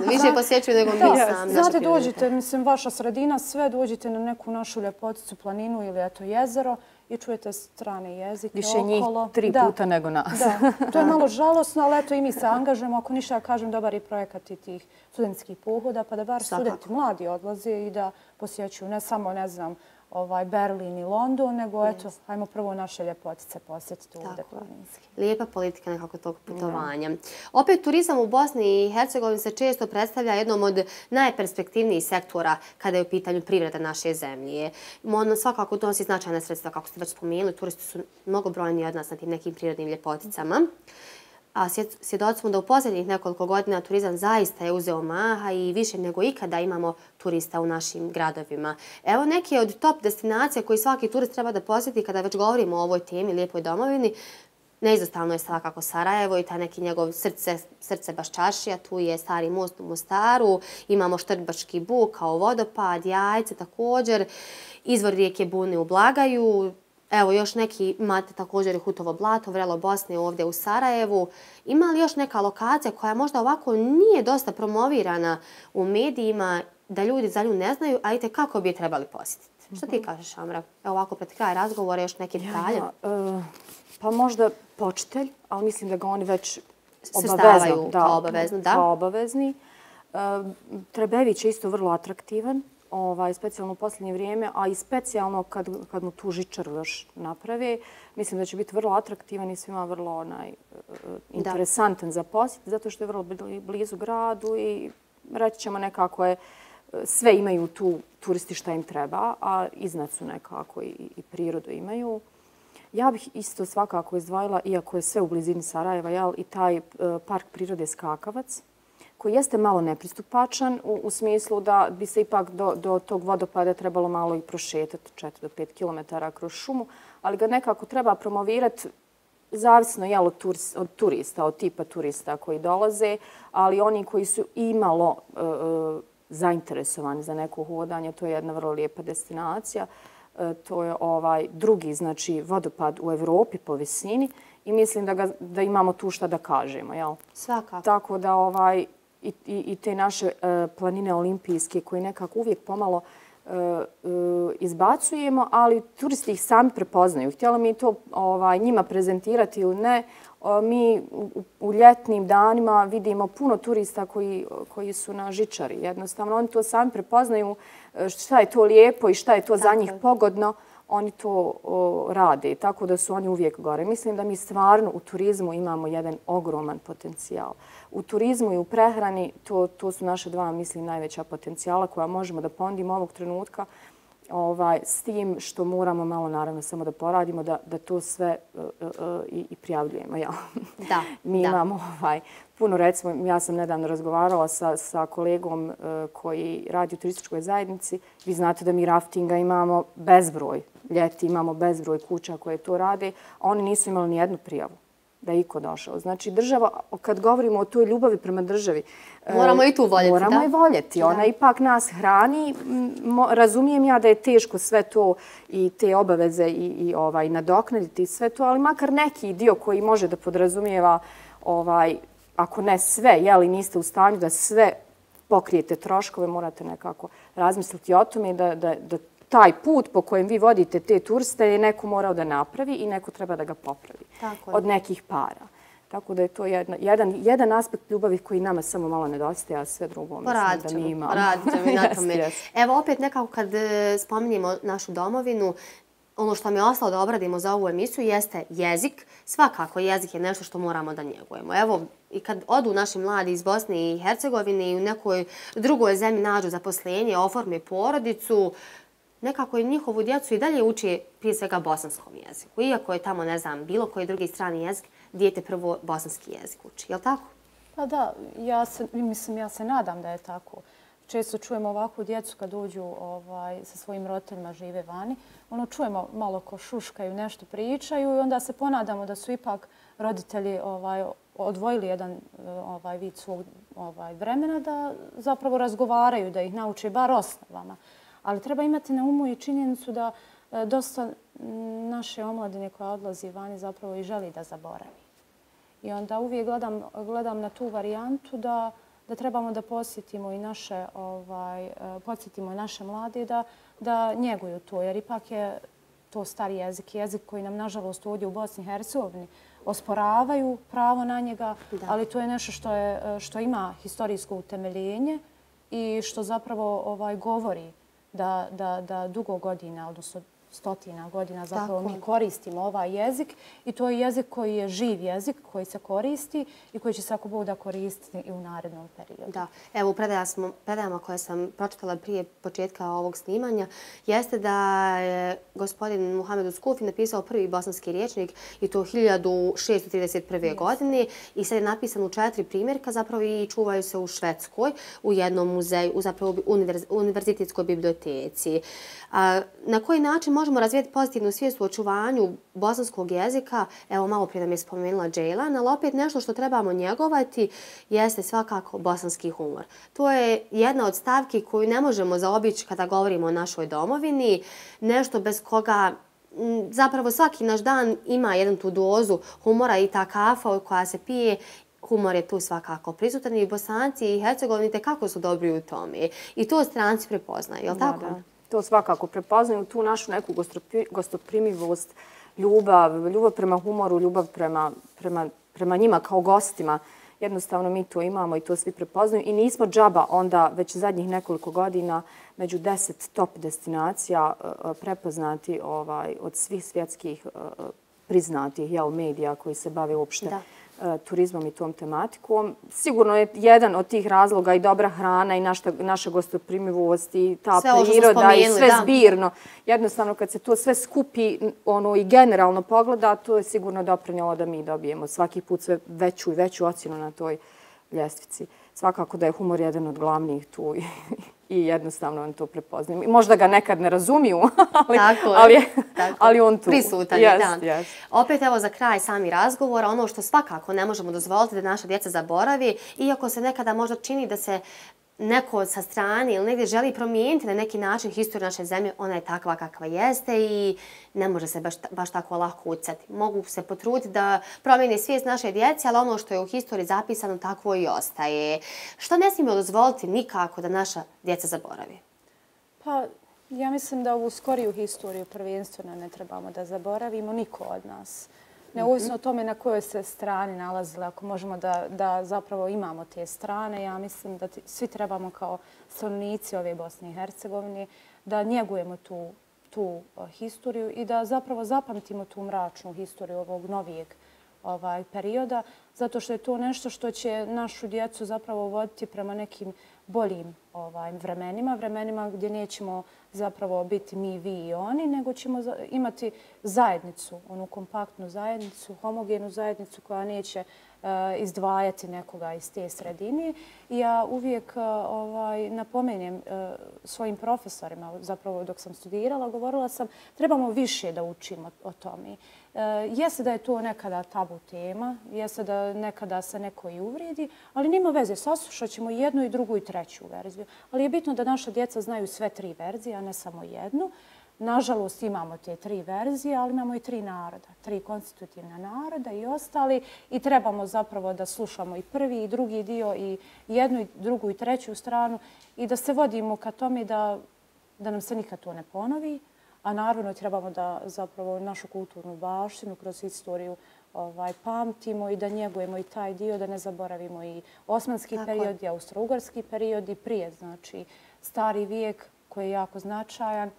Više posjećuju nego mi sami. Znate, dođite, mislim, vaša sredina, sve dođite na neku našu ljepoticu, planinu ili eto jezero i čujete strane jezike više okolo. Više njih tri da. puta nego nas. Da, to je malo žalosno, ali eto i mi se angažujemo. Ako ništa ja kažem, dobar je projekat i tih studentskih pohoda, pa da bar Svakako. studenti mladi odlaze i da posjećuju ne samo, ne znam, ovaj Berlin i London, nego eto, yes. ajmo prvo naše ljepotice posjetiti ovdje planinski. Lijepa politika nekako tog putovanja. Yeah. Opet, turizam u Bosni i Hercegovini se često predstavlja jednom od najperspektivnijih sektora kada je u pitanju privreda naše zemlje. On svakako donosi značajna sredstva, kako ste već spomenuli, turisti su mnogobrojni od nas na tim nekim prirodnim ljepoticama. A svjedoci smo da u posljednjih nekoliko godina turizam zaista je uzeo maha i više nego ikada imamo turista u našim gradovima. Evo neke od top destinacija koji svaki turist treba da posjeti kada već govorimo o ovoj temi, lijepoj domovini. Neizostavno je svakako Sarajevo i ta neki njegov srce, srce Baščašija. Tu je Stari most u Mostaru, imamo Štrbački buk kao vodopad, Jajce također, izvor rijeke Bune u Blagaju. Evo, još neki imate također i Hutovo blato, Vrelo Bosne ovdje u Sarajevu. Ima li još neka lokacija koja možda ovako nije dosta promovirana u medijima, da ljudi za nju ne znaju, a i kako bi je trebali posjetiti? Mm-hmm. Što ti kažeš, Amra? Evo ovako pred kraj razgovora još neki detalje. Ja, uh, pa možda Počitelj, ali mislim da ga oni već obavezno, da, kao obavezno, da. Kao obavezni. Uh, Trebević je isto vrlo atraktivan. Ovaj, specijalno u posljednje vrijeme, a i specijalno kad, kad mu tu žičaru još naprave. Mislim da će biti vrlo atraktivan i svima vrlo onaj, uh, interesantan da. za posjet, zato što je vrlo blizu gradu i reći ćemo nekako je, sve imaju tu turisti šta im treba, a iznad su nekako i, i prirodu imaju. Ja bih isto svakako izdvojila, iako je sve u blizini Sarajeva, jel, i taj uh, park prirode Skakavac, koji jeste malo nepristupačan u, u smislu da bi se ipak do, do tog vodopada trebalo malo i prošetati četiri do pet kilometara kroz šumu, ali ga nekako treba promovirati zavisno jel, od, turist, od turista, od tipa turista koji dolaze, ali oni koji su imalo e, zainteresovani za neko hodanje, to je jedna vrlo lijepa destinacija. E, to je ovaj drugi, znači, vodopad u Evropi po visini i mislim da, ga, da imamo tu šta da kažemo. Jel? Svakako. Tako da ovaj, I, i, i te naše uh, planine olimpijske koje nekako uvijek pomalo uh, uh, izbacujemo, ali turisti ih sami prepoznaju. Htjeli mi to ovaj, njima prezentirati ili ne, uh, mi u, u ljetnim danima vidimo puno turista koji, koji su na žičari. Jednostavno, oni to sami prepoznaju šta je to lijepo i šta je to Tako. za njih pogodno. Oni to o, rade, tako da su oni uvijek gore. Mislim da mi stvarno u turizmu imamo jedan ogroman potencijal. U turizmu i u prehrani to, to su naše dva, mislim, najveća potencijala koja možemo da ponudimo ovog trenutka. Ovaj, s tim što moramo malo naravno samo da poradimo, da, da to sve uh, uh, i, i prijavljujemo. Ja. Da, Mi da. imamo ovaj, puno, recimo, ja sam nedavno razgovarala sa, sa kolegom uh, koji radi u turističkoj zajednici. Vi znate da mi raftinga imamo bezbroj, ljeti imamo bezbroj kuća koje to rade, a oni nisu imali ni jednu prijavu da je iko došao. Znači, država, kad govorimo o toj ljubavi prema državi, moramo i tu voljeti, moramo da? i voljeti. Ona da. ipak nas hrani. Mo, razumijem ja da je teško sve to i te obaveze i, i ovaj, nadoknaditi sve to, ali makar neki dio koji može da podrazumijeva, ovaj, ako ne sve, jeli niste u stanju da sve pokrijete troškove, morate nekako razmisliti o tome da, da, da taj put po kojem vi vodite te turiste je neko morao da napravi i neko treba da ga popravi. Tako od nekih para. Tako da je to jedna, jedan, jedan aspekt ljubavi koji nama samo malo nedostaje, a sve drugo mislim da mi imamo. Poradit ćemo i na tome. Yes, yes. Evo opet nekako kad spominjemo našu domovinu, ono što mi je ostalo da obradimo za ovu emisiju jeste jezik. Svakako jezik je nešto što moramo da njegujemo. Evo, i kad odu naši mladi iz Bosne i Hercegovine i u nekoj drugoj zemlji nađu zaposlenje, oforme porodicu, nekako i njihovu djecu i dalje uči prije svega bosanskom jeziku. Iako je tamo, ne znam, bilo koji drugi strani jezik, dijete prvo bosanski jezik uči. Je li tako? Pa da, ja se, mislim, ja se nadam da je tako. Često čujemo ovakvu djecu kad uđu ovaj, sa svojim roditeljima, žive vani. Ono, čujemo malo ko šuškaju, nešto pričaju i onda se ponadamo da su ipak roditelji ovaj, odvojili jedan ovaj, vid svog ovaj, vremena da zapravo razgovaraju, da ih nauče bar osnovama. Ali treba imati na umu i činjenicu da e, dosta naše omladine koja odlazi vani zapravo i želi da zaboravi. I onda uvijek gledam, gledam na tu varijantu da, da trebamo da posjetimo i naše, ovaj, e, podsjetimo i naše mlade da, da njeguju to. Jer ipak je to stari jezik, jezik koji nam nažalost ovdje u Bosni i Hercegovini osporavaju pravo na njega, da. Ali to je nešto što, je, što ima historijsko utemeljenje i što zapravo ovaj, govori Da, da, da dugo godina, odnosno stotina godina zapravo mi koristimo ovaj jezik i to je jezik koji je živ jezik, koji se koristi i koji će se ako Bog da koristiti i u narednom periodu. Da. Evo u predajama koje sam pročitala prije početka ovog snimanja jeste da je gospodin Muhamed Uskufi napisao prvi bosanski rječnik i to hiljadu šesto trideset prve. godine i sad je napisan u četiri primjerka zapravo i čuvaju se u Švedskoj, u jednom muzeju, u zapravo univerz, univerzitetskoj biblioteci. A, na koji način možemo razvijeti pozitivnu svijest u očuvanju bosanskog jezika? Evo, malo prije nam je spomenula Džejlan, ali opet nešto što trebamo njegovati jeste svakako bosanski humor. To je jedna od stavki koju ne možemo zaobići kada govorimo o našoj domovini. Nešto bez koga zapravo svaki naš dan ima jednu tu dozu humora i ta kafa koja se pije. Humor je tu svakako prisutan i Bosanci i Hercegovini kako su dobri u tome. I to stranci prepoznaju, je li tako? Da, da. To svakako prepoznaju, tu našu neku gostoprimivost, ljubav, ljubav prema humoru, ljubav prema, prema, prema njima kao gostima. Jednostavno mi to imamo i to svi prepoznaju. I nismo džaba onda već zadnjih nekoliko godina među deset top destinacija prepoznati ovaj, od svih svjetskih priznatih jel, medija koji se bave uopšte da. turizmom i tom tematikom. Sigurno je jedan od tih razloga i dobra hrana i naša, naša gostoprimivost i ta sve priroda i sve da. zbirno. Jednostavno kad se to sve skupi ono, i generalno pogleda, to je sigurno doprinjelo da mi dobijemo svaki put sve veću i veću ocjenu na toj ljestvici. Svakako da je humor jedan od glavnih tu i jednostavno on to prepoznaje. Možda ga nekad ne razumiju, ali, tako ali, je, tako. ali on tu. Prisutan je, yes, da. Yes. Opet evo za kraj sami razgovora, ono što svakako ne možemo dozvoliti da naša djeca zaboravi, iako se nekada možda čini da se neko sa strane ili negdje želi promijeniti na neki način historiju naše zemlje, ona je takva kakva jeste i ne može se baš, baš tako lako ucati. Mogu se potruditi da promijeni svijest naše djece, ali ono što je u historiji zapisano takvo i ostaje. Što ne smijemo dozvoliti nikako da naša djeca zaboravi? Pa, ja mislim da ovu skoriju historiju prvenstveno ne trebamo da zaboravimo niko od nas. Neovisno o tome na kojoj se strani nalazile, ako možemo da, da zapravo imamo te strane, ja mislim da ti, svi trebamo kao stanovnici ove Bosne i Hercegovine da njegujemo tu, tu uh, historiju i da zapravo zapamtimo tu mračnu historiju ovog novijeg ovaj, perioda, zato što je to nešto što će našu djecu zapravo voditi prema nekim boljim ovaj, vremenima, vremenima gdje nećemo zapravo biti mi, vi i oni, nego ćemo imati zajednicu, onu kompaktnu zajednicu, homogenu zajednicu koja neće uh, izdvajati nekoga iz te sredine. I ja uvijek uh, ovaj, napomenjem uh, svojim profesorima, zapravo dok sam studirala, govorila sam trebamo više da učimo o tome. Uh, jeste da je to nekada tabu tema, jeste da nekada se neko i uvredi, ali nima veze, saslušat ćemo jednu i drugu i treću verziju. Ali je bitno da naša djeca znaju sve tri verzije, a ne samo jednu. Nažalost, imamo te tri verzije, ali imamo i tri naroda, tri konstitutivna naroda i ostali. I trebamo zapravo da slušamo i prvi i drugi dio i jednu i drugu i treću stranu i da se vodimo ka tome da, da nam se nikad to ne ponovi. A naravno trebamo da zapravo našu kulturnu baštinu kroz istoriju ovaj, pamtimo i da njegujemo i taj dio, da ne zaboravimo i osmanski Tako period, i austro-ugarski period i prije, znači stari vijek koji je jako značajan,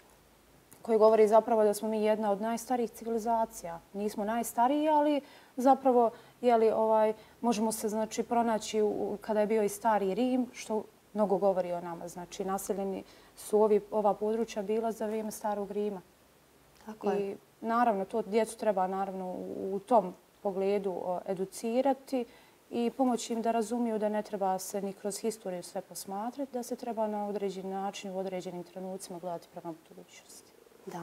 koji govori zapravo da smo mi jedna od najstarijih civilizacija. Nismo najstariji, ali zapravo jeli, ovaj, možemo se znači, pronaći u, kada je bio i stari Rim, što mnogo govori o nama. Znači, naseljeni su ovi, ova područja bila za vrijeme starog Rima. Tako je. I naravno, to djecu treba naravno u, u tom pogledu o, educirati i pomoći im da razumiju da ne treba se ni kroz historiju sve posmatrati, da se treba na određeni način u određenim trenucima gledati prema budućnosti. Da.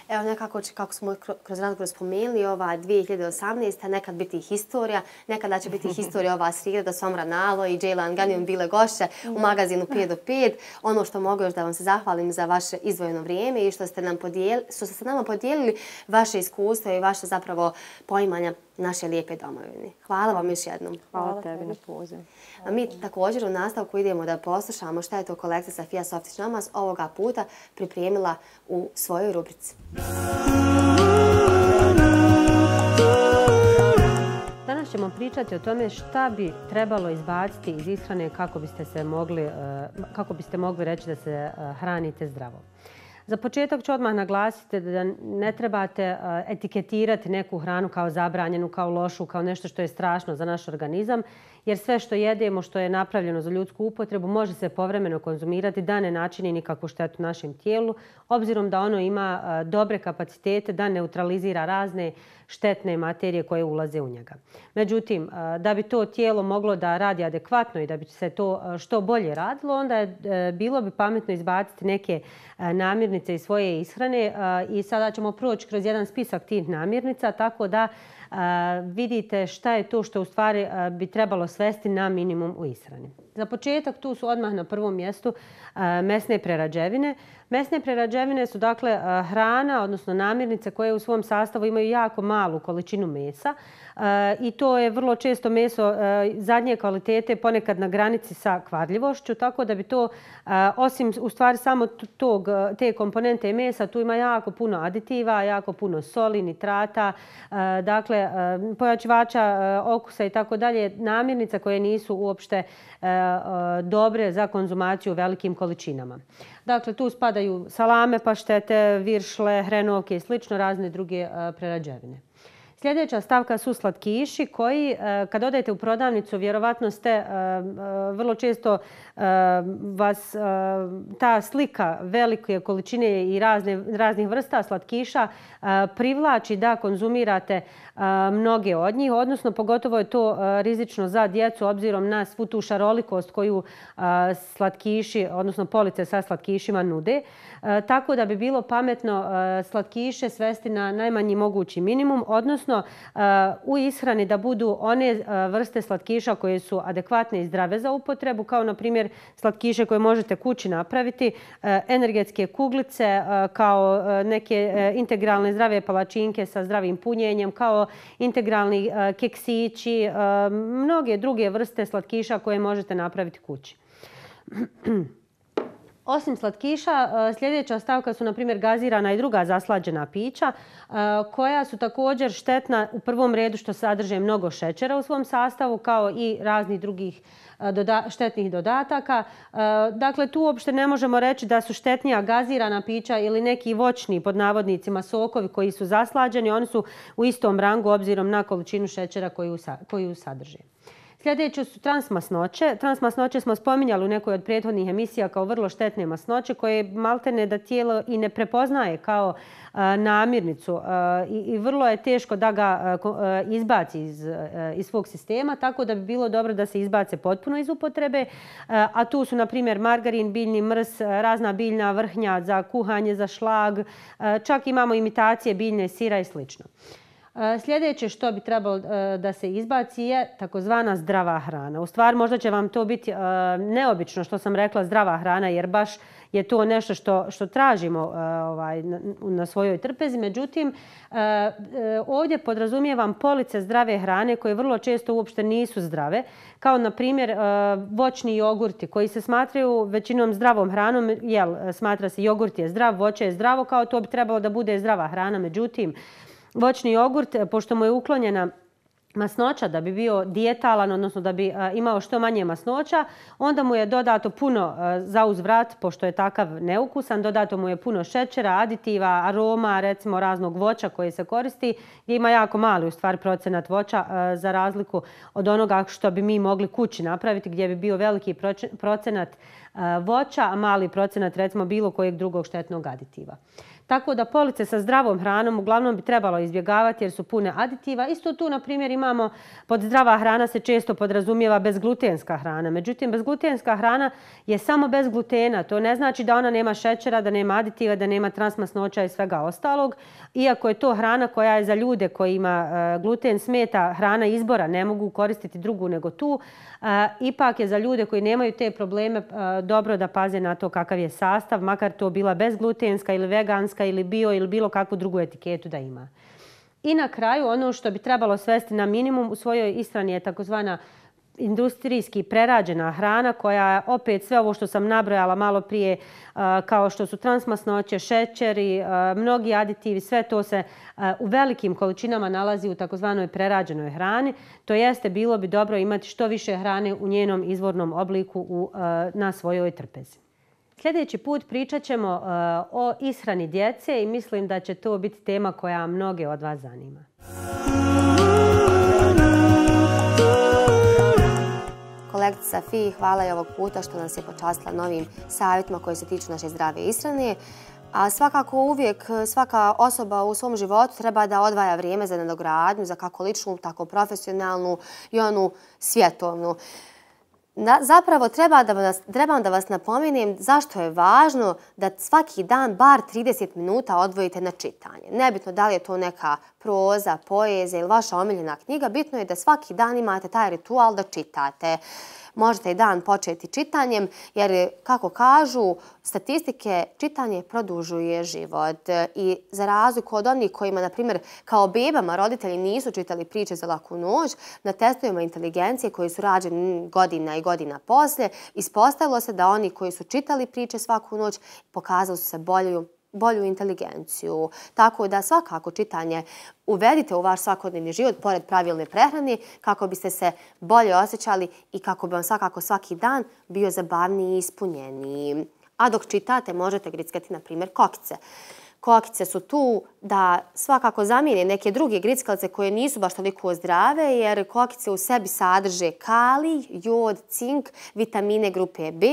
Evo nekako, kako smo kroz razgovor spomenuli, ova dvije hiljade osamnaeste. nekad biti historija, nekada će biti historija ova sreda da Somra Nalo i Džejlan Ganijom bile gošće u magazinu pet do pet. Ono što mogu još da vam se zahvalim za vaše izdvojeno vrijeme i što ste nam podijelili, što ste nama podijelili vaše iskustvo i vaše zapravo poimanja naše lijepe domovine. Hvala vam još jednom. Hvala, Hvala tebi na pozivu. A mi također u nastavku idemo da poslušamo šta je to kolekcija Safija Softić-Namaz ovoga puta pripremila u svojoj rubrici. Danas ćemo pričati o tome šta bi trebalo izbaciti iz ishrane kako biste, se mogli, kako biste mogli reći da se hranite zdravo. Za početak ću odmah naglasiti da ne trebate etiketirati neku hranu kao zabranjenu, kao lošu, kao nešto što je strašno za naš organizam, jer sve što jedemo, što je napravljeno za ljudsku upotrebu, može se povremeno konzumirati da ne načini nikakvu štetu našem tijelu, obzirom da ono ima dobre kapacitete da neutralizira razne štetne materije koje ulaze u njega. Međutim, da bi to tijelo moglo da radi adekvatno i da bi se to što bolje radilo, onda je bilo bi pametno izbaciti neke namirnice iz svoje ishrane i sada ćemo proći kroz jedan spisak tih namirnica tako da vidite šta je to što u stvari bi trebalo svesti na minimum u ishrani. Za početak tu su odmah na prvom mjestu mesne prerađevine. Mesne prerađevine su dakle hrana, odnosno namirnice koje u svom sastavu imaju jako malu količinu mesa i to je vrlo često meso zadnje kvalitete, ponekad na granici sa kvarljivošću, tako da bi to, osim u stvari samo tog, te komponente mesa, tu ima jako puno aditiva, jako puno soli, nitrata, dakle pojačivača okusa i tako dalje, namirnica koje nisu uopšte dobre za konzumaciju u velikim količinama. Dakle, tu spadaju salame, paštete, viršle, hrenovke i slično, razne druge prerađevine. Sljedeća stavka su slatkiši koji, kad odete u prodavnicu, vjerovatno ste vrlo često vas ta slika velike količine i razne, raznih vrsta slatkiša privlači da konzumirate mnoge od njih, odnosno pogotovo je to rizično za djecu obzirom na svu tu šarolikost koju slatkiši, odnosno police sa slatkišima nude. Tako da bi bilo pametno slatkiše svesti na najmanji mogući minimum, odnosno u ishrani da budu one vrste slatkiša koje su adekvatne i zdrave za upotrebu, kao na primjer slatkiše koje možete kući napraviti, energetske kuglice, kao neke integralne zdrave palačinke sa zdravim punjenjem, kao integralni keksići, mnoge druge vrste slatkiša koje možete napraviti kući. Osim slatkiša, sljedeća stavka su, na primjer, gazirana i druga zaslađena pića, koja su također štetna u prvom redu što sadrže mnogo šećera u svom sastavu, kao i raznih drugih štetnih dodataka. Dakle, tu uopšte ne možemo reći da su štetnija gazirana pića ili neki voćni, pod navodnicima, sokovi koji su zaslađeni. Oni su u istom rangu obzirom na količinu šećera koju sadrže. Sljedeće su transmasnoće. Transmasnoće smo spominjali u nekoj od prethodnih emisija kao vrlo štetne masnoće koje maltene da tijelo i ne prepoznaje kao namirnicu i vrlo je teško da ga izbaci iz svog sistema, tako da bi bilo dobro da se izbace potpuno iz upotrebe. A tu su, na primjer, margarin, biljni mrs, razna biljna vrhnja za kuhanje, za šlag, čak imamo imitacije biljne sira i slično. Sljedeće što bi trebalo da se izbaci je takozvana zdrava hrana. U stvari možda će vam to biti neobično što sam rekla zdrava hrana, jer baš je to nešto što tražimo na svojoj trpezi. Međutim, ovdje podrazumijevam police zdrave hrane koje vrlo često uopšte nisu zdrave, kao na primjer voćni jogurti koji se smatraju većinom zdravom hranom. Jel, smatra se jogurt je zdrav, voće je zdravo, kao to bi trebalo da bude zdrava hrana. Međutim, voćni jogurt, pošto mu je uklonjena masnoća da bi bio dijetalan, odnosno da bi imao što manje masnoća, onda mu je dodato puno za uzvrat, pošto je takav neukusan, dodato mu je puno šećera, aditiva, aroma, recimo raznog voća koje se koristi, gdje ima jako mali u stvari procenat voća za razliku od onoga što bi mi mogli kući napraviti, gdje bi bio veliki procenat voća, a mali procenat recimo bilo kojeg drugog štetnog aditiva. Tako da police sa zdravom hranom uglavnom bi trebalo izbjegavati jer su pune aditiva. Isto tu, na primjer, imamo pod zdrava hrana se često podrazumijeva bezglutenska hrana. Međutim, bezglutenska hrana je samo bez glutena. To ne znači da ona nema šećera, da nema aditiva, da nema transmasnoća i svega ostalog. Iako je to hrana koja je za ljude kojima gluten smeta hrana izbora, ne mogu koristiti drugu nego tu, ipak je za ljude koji nemaju te probleme dobro da paze na to kakav je sastav, makar to bila bezglutenska ili veganska ili bio ili bilo kakvu drugu etiketu da ima. I na kraju ono što bi trebalo svesti na minimum u svojoj ishrani je takozvana industrijski prerađena hrana koja opet sve ovo što sam nabrojala malo prije kao što su transmasnoće, šećeri, mnogi aditivi, sve to se u velikim količinama nalazi u takozvanoj prerađenoj hrani. To jeste bilo bi dobro imati što više hrane u njenom izvornom obliku na svojoj trpezi. Sljedeći put pričat ćemo o ishrani djece i mislim da će to biti tema koja mnoge od vas zanima. Kolegica Safiji, hvala i ovog puta što nas je počastila novim savjetima koji se tiču naše zdrave ishrane. A svakako uvijek svaka osoba u svom životu treba da odvaja vrijeme za nadogradnju, za kako ličnu, tako profesionalnu i onu svjetovnu. Zapravo trebam da vas napomenem zašto je važno da svaki dan bar trideset minuta odvojite na čitanje. Nebitno da li je to neka proza, poezija ili vaša omiljena knjiga, bitno je da svaki dan imate taj ritual da čitate. Možete i dan početi čitanjem jer, kako kažu statistike, čitanje produžuje život. I za razliku od onih kojima, na primjer, kao bebama roditelji nisu čitali priče za laku noć, na testovima inteligencije koji su rađeni godina i godina poslije, ispostavilo se da oni koji su čitali priče svaku noć pokazali su se bolju bolju inteligenciju. Tako da svakako čitanje uvedite u vaš svakodnevni život pored pravilne prehrane kako biste se bolje osjećali i kako bi vam svakako svaki dan bio zabavniji i ispunjeniji. A dok čitate možete grickati, na primjer, kokice. Kokice su tu da svakako zamijene neke druge grickalice koje nisu baš toliko zdrave jer kokice u sebi sadrže kalij, jod, cink, vitamine grupe B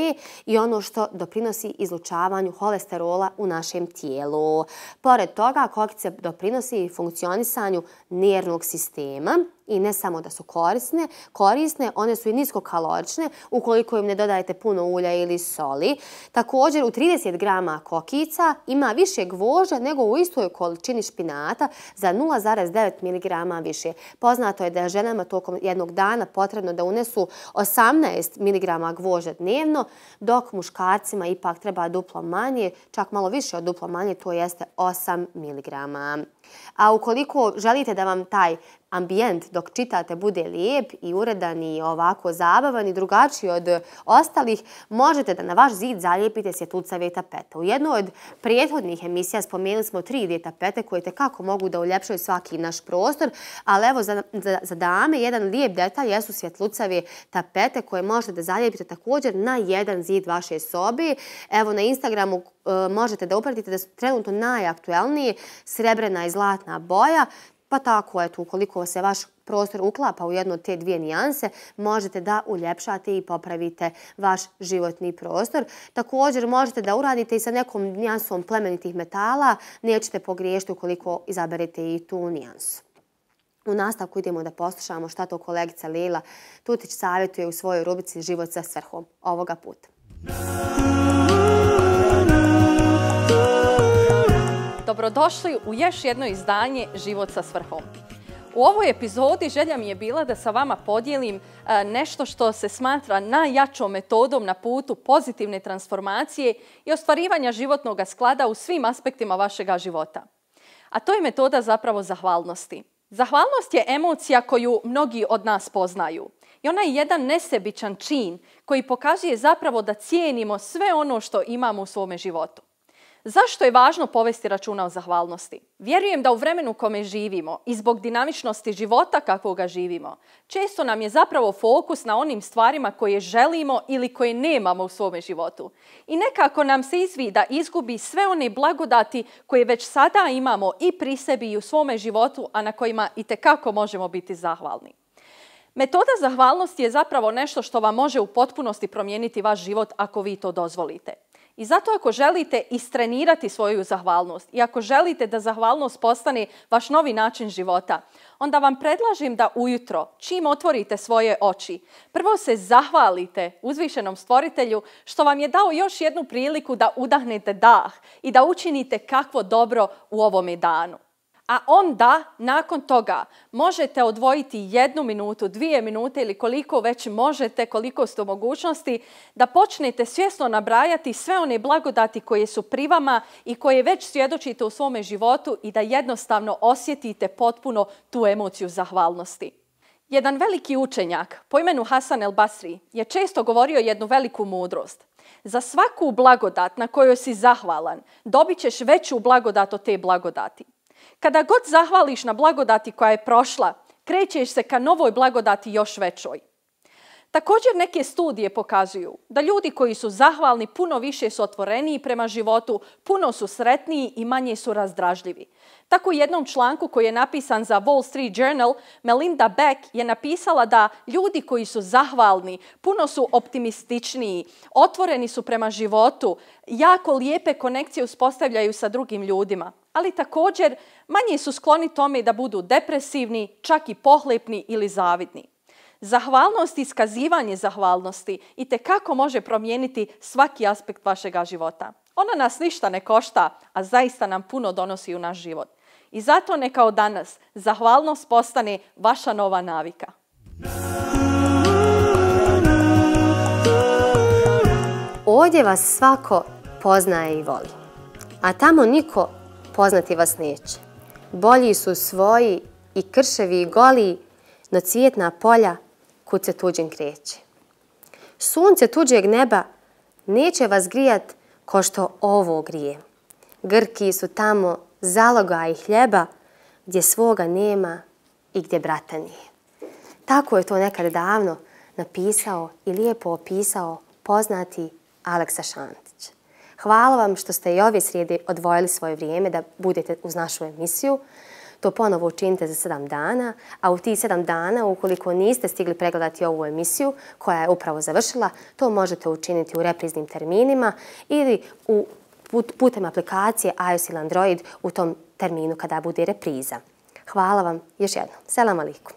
i ono što doprinosi izlučavanju holesterola u našem tijelu. Pored toga, kokice doprinosi funkcionisanju nervnog sistema. I ne samo da su korisne, korisne, one su i niskokalorične ukoliko im ne dodajete puno ulja ili soli. Također u trideset grama kokica ima više gvožđa nego u istoj količini špinata za nula zarez devet miligrama više. Poznato je da je ženama tokom jednog dana potrebno da unesu osamnaest miligrama gvožđa dnevno, dok muškarcima ipak treba duplo manje, čak malo više od duplo manje, to jeste osam miligrama. A ukoliko želite da vam taj ambijent dok čitate bude lijep i uredan i ovako zabavan i drugačiji od ostalih, možete da na vaš zid zalijepite svjetlucave tapete. U jednoj od prethodnih emisija spomenuli smo tri D tapete koje tekako mogu da uljepšaju svaki naš prostor, ali evo za, za, za dame jedan lijep detalj jesu svjetlucave tapete koje možete da zalijepite također na jedan zid vaše sobe. Evo na Instagramu e, možete da upratite da su trenutno najaktuelniji srebrena i zlatna boja. Pa tako, eto, ukoliko se vaš prostor uklapa u jednu od te dvije nijanse, možete da uljepšate i popravite vaš životni prostor. Također možete da uradite i sa nekom nijansom plemenitih metala, nećete pogriješiti ukoliko izaberete i tu nijansu. U nastavku idemo da poslušamo šta to kolegica Lila Tutić savjetuje u svojoj rubrici Život sa svrhom ovoga puta. Dobrodošli u još jedno izdanje Život sa svrhom. U ovoj epizodi želja mi je bila da sa vama podijelim nešto što se smatra najjačom metodom na putu pozitivne transformacije i ostvarivanja životnog sklada u svim aspektima vašega života. A to je metoda zapravo zahvalnosti. Zahvalnost je emocija koju mnogi od nas poznaju. I ona je jedan nesebičan čin koji pokazuje zapravo da cijenimo sve ono što imamo u svome životu. Zašto je važno povesti računa o zahvalnosti? Vjerujem da u vremenu u kome živimo i zbog dinamičnosti života kakvoga živimo, često nam je zapravo fokus na onim stvarima koje želimo ili koje nemamo u svome životu. I nekako nam se izvida izgubi sve one blagodati koje već sada imamo i pri sebi i u svome životu, a na kojima itekako možemo biti zahvalni. Metoda zahvalnosti je zapravo nešto što vam može u potpunosti promijeniti vaš život ako vi to dozvolite. I zato ako želite istrenirati svoju zahvalnost i ako želite da zahvalnost postane vaš novi način života, onda vam predlažem da ujutro, čim otvorite svoje oči, prvo se zahvalite uzvišenom stvoritelju što vam je dao još jednu priliku da udahnete dah i da učinite kakvo dobro u ovome danu. A onda, nakon toga, možete odvojiti jednu minutu, dvije minute ili koliko već možete, koliko ste u mogućnosti, da počnete svjesno nabrajati sve one blagodati koje su pri vama i koje već svjedočite u svome životu i da jednostavno osjetite potpuno tu emociju zahvalnosti. Jedan veliki učenjak po imenu Hasan el Basri je često govorio jednu veliku mudrost. Za svaku blagodat na kojoj si zahvalan, dobit ćeš veću blagodat od te blagodati. Kada god zahvališ na blagodati koja je prošla, krećeš se ka novoj blagodati još većoj. Također neke studije pokazuju da ljudi koji su zahvalni puno više su otvoreniji prema životu, puno su sretniji i manje su razdražljivi. Tako u jednom članku koji je napisan za Wall Street Journal, Melinda Beck je napisala da ljudi koji su zahvalni puno su optimističniji, otvoreni su prema životu, jako lijepe konekcije uspostavljaju sa drugim ljudima, ali također manje su skloni tome da budu depresivni, čak i pohlepni ili zavidni. Zahvalnost i iskazivanje zahvalnosti itekako može promijeniti svaki aspekt vašega života. Ona nas ništa ne košta, a zaista nam puno donosi u naš život. I zato neka od danas zahvalnost postane vaša nova navika. Ovdje vas svako poznaje i voli, a tamo niko poznati vas neće. Bolji su svoji i krševi i goli, no cvjetna polja kud se tuđim kreće. Sunce tuđeg neba neće vas grijat ko što ovo grije. Grki su tamo zalogaj hljeba gdje svoga nema i gdje brata nije. Tako je to nekad davno napisao i lijepo opisao poznati Aleksa Šantić. Hvala vam što ste i ove srijede odvojili svoje vrijeme da budete uz našu emisiju. To ponovo učinite za sedam dana, a u tih sedam dana, ukoliko niste stigli pregledati ovu emisiju koja je upravo završila, to možete učiniti u repriznim terminima ili u, putem aplikacije iOS ili Android u tom terminu kada bude repriza. Hvala vam još jednom. Selam alaikum.